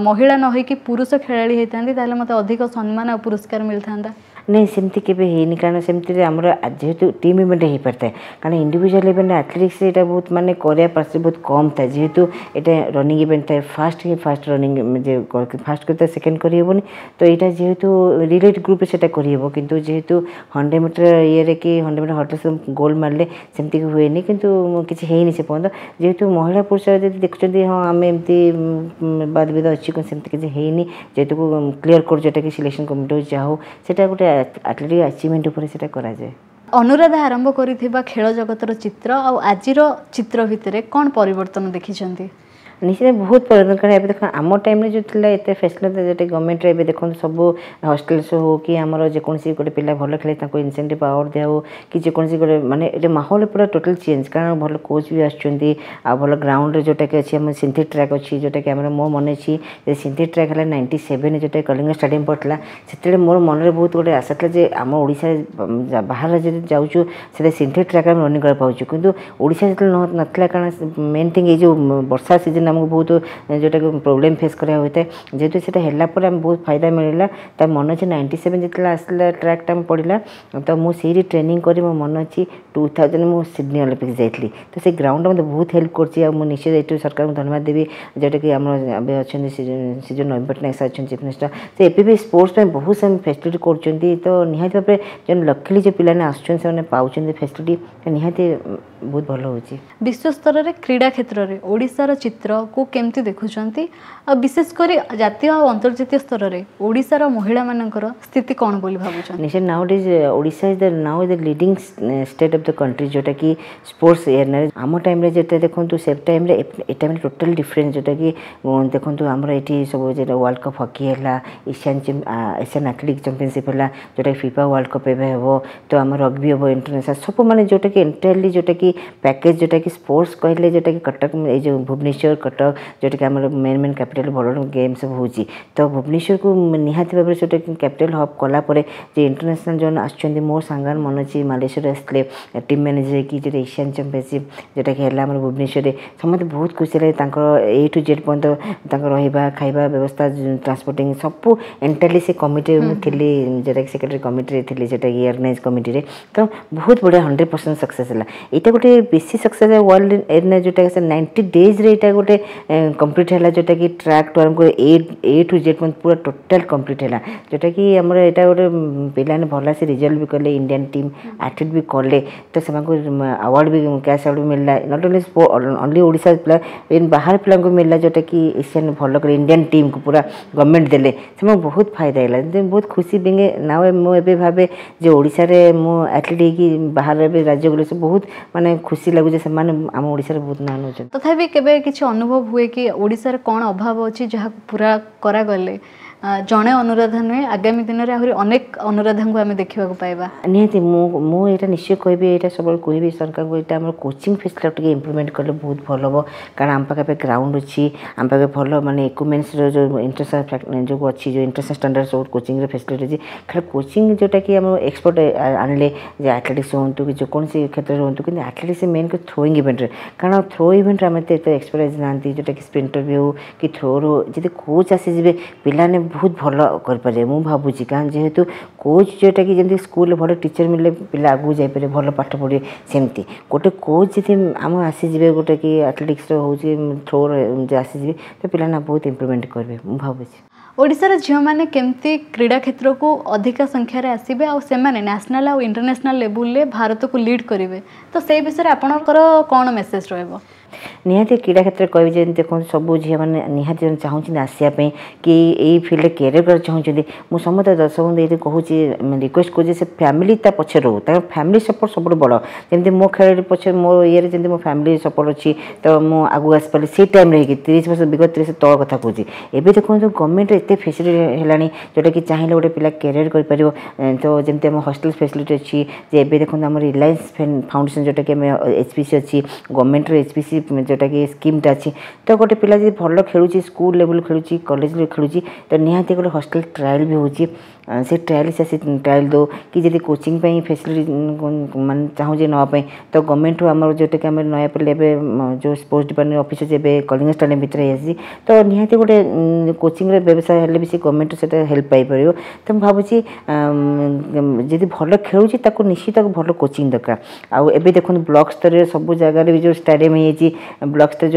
ମହିଳା ନ ହେଇକି ପୁରୁଷ ଖେଳାଳି ହେଇଥାନ୍ତି, ତାହେଲେ ମୋତେ ଅଧିକ ସମ୍ମାନ ଆଉ ପୁରସ୍କାର ମିଳିଥାନ୍ତା?
ନାଇଁ, ସେମିତି କେବେ ହେଇନି, କାରଣ ସେମିତିରେ ଆମର ଯେହେତୁ ଟିମ୍ ଇଭେଣ୍ଟ ହେଇପାରିଥାଏ, କାରଣ ଇଣ୍ଡିଭିଜୁଆଲ୍ ଇଭେଣ୍ଟ ଆଥଲେଟିକ୍ସ ଏଇଟା ବହୁତ ମାନେ କରିବା ପାର୍ସ ବହୁତ କମ୍ ଥାଏ, ଯେହେତୁ ଏଇଟା ରନିଂ ଇଭେଣ୍ଟ ଥାଏ। ଫାଷ୍ଟ ହିଁ ଫାଷ୍ଟ ରନିଂ ଯେ ଫାଷ୍ଟ କରିଥାଏ, ସେକେଣ୍ଡ କରିହେବନି। ତ ଏଇଟା ଯେହେତୁ ରିଲେ ଗ୍ରୁପ୍ରେ ସେଇଟା କରିହେବ, କିନ୍ତୁ ଯେହେତୁ 100 ମିଟର ଇଏରେ କି 100 ମିଟର ହର୍ଡଲ୍ସ ଗୋଲ୍ଡ ମାରିଲେ ସେମିତି ହୁଏନି। କିନ୍ତୁ କିଛି ହେଇନି ସେ ପର୍ଯ୍ୟନ୍ତ। ଯେହେତୁ ମହିଳା ପୁରୁଷ ଯଦି ଦେଖୁଛନ୍ତି, ହଁ, ଆମେ ଏମିତି ବାଦ ବିବାଦ ଅଛି, କିନ୍ତୁ ସେମିତି କିଛି ହେଇନି। ଯେହେତୁ କ୍ଲିୟର କରୁଛୁ ଏଟା କି ସିଲେକ୍ସନ୍ କମିଟି ହଉ, ଯାହା ହଉ, ସେଇଟା ଗୋଟେ ଆଥଲେଟିକ୍ ଆଚିଭମେଣ୍ଟ ଉପରେ ସେଇଟା କରାଯାଏ।
ଅନୁରାଧା ଆରମ୍ଭ କରିଥିବା ଖେଳ ଜଗତର ଚିତ୍ର ଆଉ ଆଜିର ଚିତ୍ର ଭିତରେ କ'ଣ ପରିବର୍ତ୍ତନ ଦେଖିଛନ୍ତି?
ନିଶ୍ଚିତ ବହୁତ ପରିବର୍ତ୍ତନ, କାରଣ ଏବେ ଦେଖନ୍ତୁ, ଆମ ଟାଇମ୍ରେ ଯେଉଁ ଥିଲା ଏତେ ଫେସିଲିଟି ଯେଉଁଟା ଗଭର୍ଣ୍ଣମେଣ୍ଟରେ, ଏବେ ଦେଖନ୍ତୁ ସବୁ ହଷ୍ଟେଲ୍ସ ହଉ କି ଆମର ଯେକୌଣସି ଗୋଟେ ପିଲା ଭଲ ଖେଳେ ତାଙ୍କୁ ଇନସେଣ୍ଟିଭ୍ ଆୱାର୍ଡ଼ ଦିଆ ହଉ କି ଯେକୌଣସି ଗୋଟେ ମାନେ ଏଠି ମାହୋଲ ପୁରା ଟୋଟାଲ୍ ଚେଞ୍ଜ, କାରଣ ଭଲ କୋଚ୍ ବି ଆସୁଛନ୍ତି ଆଉ ଭଲ ଗ୍ରାଉଣ୍ଡରେ ଯେଉଁଟାକି ଅଛି, ଆମର ସିନ୍ଥେଟିକ୍ ଟ୍ରାକ୍ ଅଛି ଯେଉଁଟାକି ଆମର। ମୋ ମନେ ଅଛି ଯେ ସିନ୍ଥେଟିକ୍ ଟ୍ରାକ୍ ହେଲା 97 ଯେଉଁଟା କଳିଙ୍ଗ ଷ୍ଟାଡ଼ିୟମ୍ ପଡ଼ିଥିଲା, ସେତେବେଳେ ମୋର ମନରେ ବହୁତ ଗୋଟେ ଆଶା ଥିଲା ଯେ ଆମ ଓଡ଼ିଶାରେ ବାହାର ରାଜ୍ୟରେ ଯାଉଛୁ, ସେଥିରେ ସିନ୍ଥେଟିକ୍ ଟ୍ରାକ୍ ଆମେ ରନିଂ କରିବାକୁ ପାଉଛୁ, କିନ୍ତୁ ଓଡ଼ିଶା ଯେତେବେଳେ ନଥିଲା, କାରଣ ମେନ୍ ଥିଙ୍ଗ ଏଇ ଯେଉଁ ବର୍ଷା ସିଜନ୍ ଆମକୁ ବହୁତ ଯେଉଁଟାକି ପ୍ରୋବ୍ଲେମ୍ ଫେସ୍ କରିବାକୁ ହୋଇଥାଏ। ଯେହେତୁ ସେଇଟା ହେଲା ପରେ ଆମେ ବହୁତ ଫାଇଦା ମିଳିଲା। ତା ମନେ ଅଛି, 97 ଯେତେବେଳେ ଆସିଲା ଟ୍ରାକ୍ଟା ଆମେ ପଡ଼ିଲା, ତ ମୁଁ ସେଇଠି ଟ୍ରେନିଂ କରି ମୋ ମନେ ଅଛି 2000 ମୁଁ ସିଡ଼ନୀ ଅଲିମ୍ପିକ୍ସ ଯାଇଥିଲି। ତ ସେ ଗ୍ରାଉଣ୍ଡ ମୋତେ ବହୁତ ହେଲ୍ପ କରୁଛି ଆଉ ମୁଁ ନିଶ୍ଚିତ ଏଇଠୁ ସରକାରଙ୍କୁ ଧନ୍ୟବାଦ ଦେବି, ଯେଉଁଟାକି ଆମର ଏବେ ଅଛନ୍ତି ସେ ଯେଉଁ ନବୀନ ପଟ୍ଟନାୟକ ସାର୍ ଅଛନ୍ତି ଚିଫ୍ ମିନିଷ୍ଟର, ସେ ଏବେ ବି ସ୍ପୋର୍ଟସ୍ ପାଇଁ ବହୁତ ସେମାନେ ଫେସିଲିଟି କରୁଛନ୍ତି। ତ ନିହାତି ଭାବରେ ଯେଉଁ ଲକିଲି ଯେଉଁ ପିଲାମାନେ ଆସୁଛନ୍ତି, ସେମାନେ ପାଉଛନ୍ତି ଫେସିଲିଟି, ନିହାତି ବହୁତ ଭଲ ହେଉଛି।
ବିଶ୍ୱ ସ୍ତରରେ କ୍ରୀଡ଼ା କ୍ଷେତ୍ରରେ ଓଡ଼ିଶାର ଚିତ୍ରକୁ କେମିତି ଦେଖୁଛନ୍ତି, ଆଉ ବିଶେଷ କରି ଜାତୀୟ ଆଉ ଅନ୍ତର୍ଜାତୀୟ ସ୍ତରରେ ଓଡ଼ିଶାର ମହିଳାମାନଙ୍କର ସ୍ଥିତି କ'ଣ ବୋଲି ଭାବୁଛନ୍ତି?
ନିଶ୍ଚୟ, nowadays Odisha is the now the leading state of the country ଯେଉଁଟାକି ସ୍ପୋର୍ଟସ୍ ଏରିଆରେ। ଆମ ଟାଇମ୍ରେ ଯେତେ ଦେଖନ୍ତୁ, ସେ ଟାଇମ୍ରେ ଏ ଟାଇମ୍ରେ ଟୋଟାଲ୍ ଡିଫରେନ୍ସ। ଯେଉଁଟାକି ଦେଖନ୍ତୁ, ଆମର ଏଠି ସବୁ ଯେଟା ୱାର୍ଲଡ଼ କପ୍ ହକି ହେଲା, ଏସିଆନ୍ ଆଥଲେଟିକ୍ ଚାମ୍ପିଅନସିପ୍ ହେଲା, ଯେଉଁଟାକି ଫିଫା ୱାର୍ଲଡ଼ କପ୍ ଏବେ ହେବ, ତ ଆମର ରଗ୍ବି ହେବ, ଇଣ୍ଟରନ୍ୟାସନାଲ୍ ସବୁ, ମାନେ ଯେଉଁଟାକି ଏଣ୍ଟାୟାରଲି ଯେଉଁଟାକି ପ୍ୟାକେଜ୍, ଯେଉଁଟାକି ସ୍ପୋର୍ଟସ୍ କହିଲେ ଯେଉଁଟାକି କଟକ, ଏଇ ଯେଉଁ ଭୁବନେଶ୍ୱର, କଟକ, ଯେଉଁଟାକି ଆମର ମେନ୍ ମେନ୍ କ୍ୟାପିଟାଲ୍, ଭଲ ଗେମ୍ ସବୁ ହେଉଛି। ତ ଭୁବନେଶ୍ୱରକୁ ନିହାତି ଭାବରେ ସେଇଟା କ୍ୟାପିଟାଲ୍ ହବ୍ କଲା ପରେ ଯେ ଇଣ୍ଟରନ୍ୟାସନାଲ୍ ଯେଉଁମାନେ ଆସୁଛନ୍ତି, ମୋ ସାଙ୍ଗମାନେ ମନେ ଅଛି ମାଲେସିଆରୁ ଆସିଥିଲେ ଟିମ୍ ମ୍ୟାନେଜର ହେଇକି, ଯେଉଁଟା ଏସିଆନ୍ ଚାମ୍ପିଅନସିପ୍ ଯେଉଁଟାକି ହେଲା ଆମର ଭୁବନେଶ୍ୱରରେ, ସମସ୍ତେ ବହୁତ ଖୁସି ହେଲେ। ତାଙ୍କର ଏ ଟୁ ଜେଡ଼୍ ପର୍ଯ୍ୟନ୍ତ ତାଙ୍କ ରହିବା ଖାଇବା ବ୍ୟବସ୍ଥା, ଟ୍ରାନ୍ସପୋର୍ଟିଂ ସବୁ ଏଣ୍ଟାୟାରଲି ସେ କମିଟିରେ ମୁଁ ଥିଲି, ଯେଉଁଟାକି ସେକ୍ରେଟାରୀ କମିଟିରେ ଥିଲି, ଯେଉଁଟାକି ଅର୍ଗାନାଇଜ୍ କମିଟିରେ। ତ ବହୁତ ବଢ଼ିଆ, 100% ସକ୍ସେସ୍ ହେଲା। ଏଇଟା ଗୋଟେ ବେଶୀ ସକ୍ସେସ୍ ୱାର୍ଲଡ ଏରିନା, ଯେଉଁଟାକି ସେ 90 ଡେଜ୍ରେ ଏଇଟା ଗୋଟେ କମ୍ପ୍ଲିଟ୍ ହେଲା, ଯେଉଁଟାକି ଟ୍ରାକ୍ ଟୁ ଆରମ୍ଭ କରି ଏ ଟୁ ଜେଡ଼୍ ପର୍ଯ୍ୟନ୍ତ ପୁରା ଟୋଟାଲ୍ କମ୍ପ୍ଲିଟ୍ ହେଲା। ଯେଉଁଟାକି ଆମର ଏଇଟା ଗୋଟେ ପିଲାମାନେ ଭଲ ସେ ରେଜଲ୍ଟ ବି କଲେ, ଇଣ୍ଡିଆନ୍ ଟିମ୍ ଆଥଲେଟ୍ ବି କଲେ, ତ ସେମାନଙ୍କୁ ଆୱାର୍ଡ଼ ବି, କ୍ୟାସ୍ ଆୱାର୍ଡ଼ ବି ମିଳିଲା। Not only Odisha ପିଲା, ବାହାର ପିଲାଙ୍କୁ ମିଳିଲା, ଯେଉଁଟାକି ଏସିଆନ୍ ଭଲ କରି ଇଣ୍ଡିଆନ୍ ଟିମ୍କୁ ପୁରା ଗଭର୍ଣ୍ଣମେଣ୍ଟ ଦେଲେ, ସେମାନଙ୍କୁ ବହୁତ ଫାଇଦା ହେଲା। ବହୁତ ଖୁସି ବିଙ୍ଗେ ନା ମୁଁ ଏବେ ଭାବେ ଯେ ଓଡ଼ିଶାରେ ମୁଁ ଆଥଲେଟ୍ ହେଇକି ବାହାରେ ଏବେ ରାଜ୍ୟ ଗଲେ ସବୁ ବହୁତ ମାନେ ଖୁସି ଲାଗୁଛି, ସେମାନେ ଆମ ଓଡ଼ିଶାରେ ବହୁତ ନାଁ ନେଉଛନ୍ତି।
ତଥାପି କେବେ କିଛି ଅନୁଭବ ହୁଏ କି ଓଡ଼ିଶାରେ କ'ଣ ଅଭାବ ଅଛି, ଯାହାକୁ ପୁରା କରାଗଲେ ଜଣେ ଅନୁରାଧା ନୁହେଁ, ଆଗାମୀ ଦିନରେ ଆହୁରି ଅନେକ ଅନୁରାଧାଙ୍କୁ ଆମେ ଦେଖିବାକୁ ପାଇବା?
ନିହାତି, ମୁଁ ଏଇଟା ନିଶ୍ଚୟ କହିବି, ଏଇଟା ସବୁବେଳେ କହିବି ସରକାରଙ୍କୁ, ଏଇଟା ଆମର କୋଚିଂ ଫେସିଲିଟି ଟିକେ ଇମ୍ପ୍ରୁଭମେଣ୍ଟ କଲେ ବହୁତ ଭଲ ହେବ। କାରଣ ଆମ ପାଖେ ଏବେ ଗ୍ରାଉଣ୍ଡ ଅଛି, ଆମ ପାଖେ ଭଲ ମାନେ ଇକ୍ୱିପମେଣ୍ଟସର ଯେଉଁ ଇଣ୍ଟରନ୍ୟାସନାଲ୍ ଯେଉଁ ଅଛି, ଯେଉଁ ଇଣ୍ଟରନ୍ୟାସନାଲ୍ ଷ୍ଟାଣ୍ଡାର୍ଡ଼ ସବୁ କୋଚିଂର ଫେସିଲିଟି ଅଛି। ଖାଲି କୋଚିଂ ଯେଉଁଟାକି ଆମ ଏକ୍ସପର୍ଟ ଆଣିଲେ ଯେ ଆଥଲେଟିକ୍ସ ହୁଅନ୍ତୁ କି ଯେକୌଣସି କ୍ଷେତ୍ରରେ ହୁଅନ୍ତୁ, କିନ୍ତୁ ଆଥଲେଟିକ୍ସ ମେନ୍ ଥ୍ରୋଇଂ ଇଭେଣ୍ଟରେ, କାରଣ ଥ୍ରୋ ଇଭେଣ୍ଟରେ ଆମେ ଏତେ ଏକ୍ସପର୍ଟାଇଜ୍ ନାହାନ୍ତି, ଯେଉଁଟାକି ସ୍ପ୍ରିଣ୍ଟର ବି ହେଉ କି ଥ୍ରୋର ହଉ, ଯଦି କୋଚ୍ ଆସିଯିବେ ପିଲାମାନେ ବହୁତ ଭଲ କରିପାରିବେ ମୁଁ ଭାବୁଛି। କାରଣ ଯେହେତୁ କୋଚ୍ ଯେଉଁଟାକି ଯେମିତି ସ୍କୁଲରେ ଭଲ ଟିଚର୍ ମିଳିଲେ ପିଲା ଆଗକୁ ଯାଇପାରିବେ, ଭଲ ପାଠ ପଢ଼ିବେ, ସେମିତି ଗୋଟେ କୋଚ୍ ଯଦି ଆମ ଆସିଯିବେ, ଗୋଟେ କି ଆଥଲେଟିକ୍ସର ହେଉଛି ଥ୍ରୋର ଆସିଯିବେ, ତ ପିଲାମାନେ ବହୁତ ଇମ୍ପ୍ରୁଭମେଣ୍ଟ କରିବେ ମୁଁ ଭାବୁଛି।
ଓଡ଼ିଶାର ଝିଅମାନେ କେମିତି କ୍ରୀଡ଼ା କ୍ଷେତ୍ରକୁ ଅଧିକା ସଂଖ୍ୟାରେ ଆସିବେ ଆଉ ସେମାନେ ନ୍ୟାସନାଲ୍ ଆଉ ଇଣ୍ଟରନ୍ୟାସନାଲ୍ ଲେବୁଲରେ ଭାରତକୁ ଲିଡ୍ କରିବେ, ତ ସେଇ ବିଷୟରେ ଆପଣଙ୍କର କ'ଣ ମେସେଜ୍ ରହିବ?
ନିହାତି କ୍ରୀଡ଼ା କ୍ଷେତ୍ରରେ କହିବି, ଯେମିତି ଦେଖନ୍ତୁ, ସବୁ ଝିଅମାନେ ନିହାତି ଚାହୁଁଛନ୍ତି ଆସିବା ପାଇଁ କି ଏଇ ଫିଲ୍ଡରେ କ୍ୟାରିୟର କରିବାକୁ ଚାହୁଁଛନ୍ତି। ମୁଁ ସମସ୍ତେ ଦର୍ଶକଙ୍କୁ ଏଇଠି କହୁଛି, ରିକ୍ୱେଷ୍ଟ କରୁଛି, ସେ ଫ୍ୟାମିଲି ତା ପଛରେ ରହୁ। ତାଙ୍କ ଫ୍ୟାମିଲି ସପୋର୍ଟ ସବୁଠୁ ବଡ଼। ଯେମିତି ମୋ ଖେଳରେ ପଛରେ, ମୋ ଇଏରେ ଯେମିତି ମୋ ଫ୍ୟାମିଲି ସପୋର୍ଟ ଅଛି, ତ ମୁଁ ଆଗକୁ ଆସିପାରିଲି ସେଇ ଟାଇମ୍ରେ ହେଇକି। 30 ବର୍ଷ, ବିଗତ 30 ତଳ କଥା କହୁଛି। ଏବେ ଦେଖନ୍ତୁ, ଗଭର୍ଣ୍ଣମେଣ୍ଟରେ ଏତେ ଫେସିଲିଟି ହେଲାଣି, ଯେଉଁଟାକି ଚାହିଁଲେ ଗୋଟେ ପିଲା କ୍ୟାରିୟର କରିପାରିବ। ତ ଯେମିତି ଆମ ହଷ୍ଟେଲ ଫେସିଲିଟି ଅଛି ଯେ, ଏବେ ଦେଖନ୍ତୁ, ଆମର ରିଲାଏନ୍ସ ଫାଉଣ୍ଡେସନ୍, ଯେଉଁଟାକି ଆମେ ଏଚ୍ ପି ସି ଅଛି, ଗଭର୍ଣ୍ଣମେଣ୍ଟର ଏଚ୍ ପି ସି ଯେଉଁଟାକି ସ୍କିମ୍ଟା ଅଛି। ତ ଗୋଟେ ପିଲା ଯଦି ଭଲ ଖେଳୁଛି, ସ୍କୁଲ ଲେଭେଲ୍ ଖେଳୁଛି, କଲେଜ ଖେଳୁଛି, ତ ନିହାତି ଗୋଟେ ହଷ୍ଟେଲ ଟ୍ରାଏଲ୍ ବି ହେଉଛି। ସେ ଟ୍ରାଏଲ୍, ସେ ଆସି ଟ୍ରାଏଲ୍ ଦେଉ କି ଯଦି କୋଚିଂ ପାଇଁ ଫେସିଲିଟି ମାନେ ଚାହୁଁଛି ନେବା ପାଇଁ, ତ ଗଭର୍ଣ୍ଣମେଣ୍ଟରୁ ଆମର ଯେଉଁଟାକି ଆମର ନୟାପଲ୍ଲୀ ଏବେ ଯେଉଁ ସ୍ପୋର୍ଟସ୍ ଡିପାର୍ଟମେଣ୍ଟ ଅଫିସ୍ ଅଛି, ଏବେ କଳିଙ୍ଗ ଷ୍ଟାଡ଼ିୟମ୍ ଭିତରେ ହେଇଆସିଛି। ତ ନିହାତି ଗୋଟେ କୋଚିଂର ବ୍ୟବସାୟ ହେଲେ ବି ସେ ଗଭର୍ଣ୍ଣମେଣ୍ଟରୁ ସେଇଟା ହେଲ୍ପ ପାଇପାରିବ। ତ ମୁଁ ଭାବୁଛି, ଯଦି ଭଲ ଖେଳୁଛି, ତାକୁ ନିଶ୍ଚିତ ଭଲ କୋଚିଂ ଦରକାର। ଆଉ ଏବେ ଦେଖନ୍ତୁ, ବ୍ଲକ ସ୍ତରରେ ସବୁ ଜାଗାରେ ବି ଯେଉଁ ଷ୍ଟାଡ଼ିୟମ୍ ହେଇଯାଇଛି, ବ୍ଲକ ସ୍ତରରେ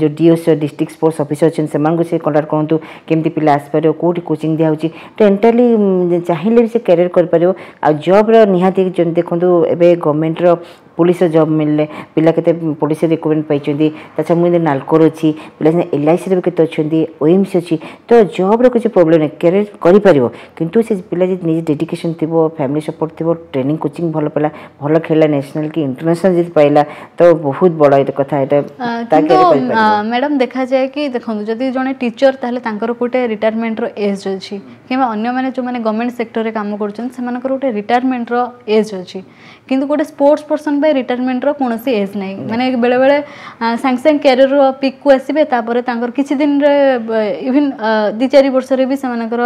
ଯେଉଁ ଡିଓସି, ଡିଷ୍ଟ୍ରିକ୍ଟ ସ୍ପୋର୍ଟସ୍ ଅଫିସର ଅଛନ୍ତି, ସେମାନଙ୍କୁ ସେ କଣ୍ଟାକ୍ଟ କରନ୍ତୁ, କେମିତି ପିଲା ଆସିପାରିବ, କେଉଁଠି କୋଚିଂ ଦିଆହେଉଛି। ତ ଏଣ୍ଟାୟାରଲି ଚାହିଁଲେ ବି ସେ କ୍ୟାରିୟର କରିପାରିବ। ଆଉ ଜବ୍ର ନିହାତି ଯେମିତି ଦେଖନ୍ତୁ, ଏବେ ଗଭର୍ଣ୍ଣମେଣ୍ଟର ପୋଲିସର ଜବ୍ ମିଳିଲେ ପିଲା କେତେ ପୋଲିସର ରିକ୍ରୁଟମେଣ୍ଟ ପାଇଛନ୍ତି। ତା ଛଡ଼ା ମୁଁ ଯେମିତି ନାଲକୋର ଅଛି, ପିଲା ଏଲ୍ଆଇସିରେ ବି କେତେ ଅଛନ୍ତି, ଓଏମ୍ସି ଅଛି। ତ ଜବ୍ର କିଛି ପ୍ରୋବ୍ଲେମ୍ ନାହିଁ, କ୍ୟାରିୟର କରିପାରିବ। କିନ୍ତୁ ସେ ପିଲା ଯଦି ନିଜେ ଡେଡିକେସନ୍ ଥିବ, ଫ୍ୟାମିଲି ସପୋର୍ଟ ଥିବ, ଟ୍ରେନିଂ କୋଚିଂ ଭଲ ପାଇଲା, ଭଲ ଖେଳିଲା, ନ୍ୟାସନାଲ୍ କି ଇଣ୍ଟରନ୍ୟାସନାଲ୍ ଯଦି ପାଇଲା, ତ ବହୁତ ବଡ଼ ଏଇଟା କଥା ଏଇଟା।
କିନ୍ତୁ ମ୍ୟାଡ଼ାମ୍, ଦେଖାଯାଏ କି ଦେଖନ୍ତୁ, ଯଦି ଜଣେ ଟିଚର, ତାହେଲେ ତାଙ୍କର ଗୋଟେ ରିଟାୟାରମେଣ୍ଟର ଏଜ୍ ଅଛି, କିମ୍ବା ଅନ୍ୟମାନେ ଯେଉଁମାନେ ଗଭର୍ଣ୍ଣମେଣ୍ଟ ସେକ୍ଟରରେ କାମ କରୁଛନ୍ତି, ସେମାନଙ୍କର ଗୋଟେ ରିଟାୟାରମେଣ୍ଟର ଏଜ୍ ଅଛି। କିନ୍ତୁ ଗୋଟେ ସ୍ପୋର୍ଟସ୍ ପର୍ସନ୍ ପାଇଁ ରିଟାୟାରମେଣ୍ଟର କୌଣସି ଏଜ୍ ନାହିଁ। ମାନେ ବେଳେବେଳେ ସାଙ୍ଗେ ସାଙ୍ଗେ କ୍ୟାରିୟର ପିକ୍କୁ ଆସିବେ, ତାପରେ ତାଙ୍କର କିଛି ଦିନରେ, ଇଭିନ୍ 2-4 ବର୍ଷରେ ବି ସେମାନଙ୍କର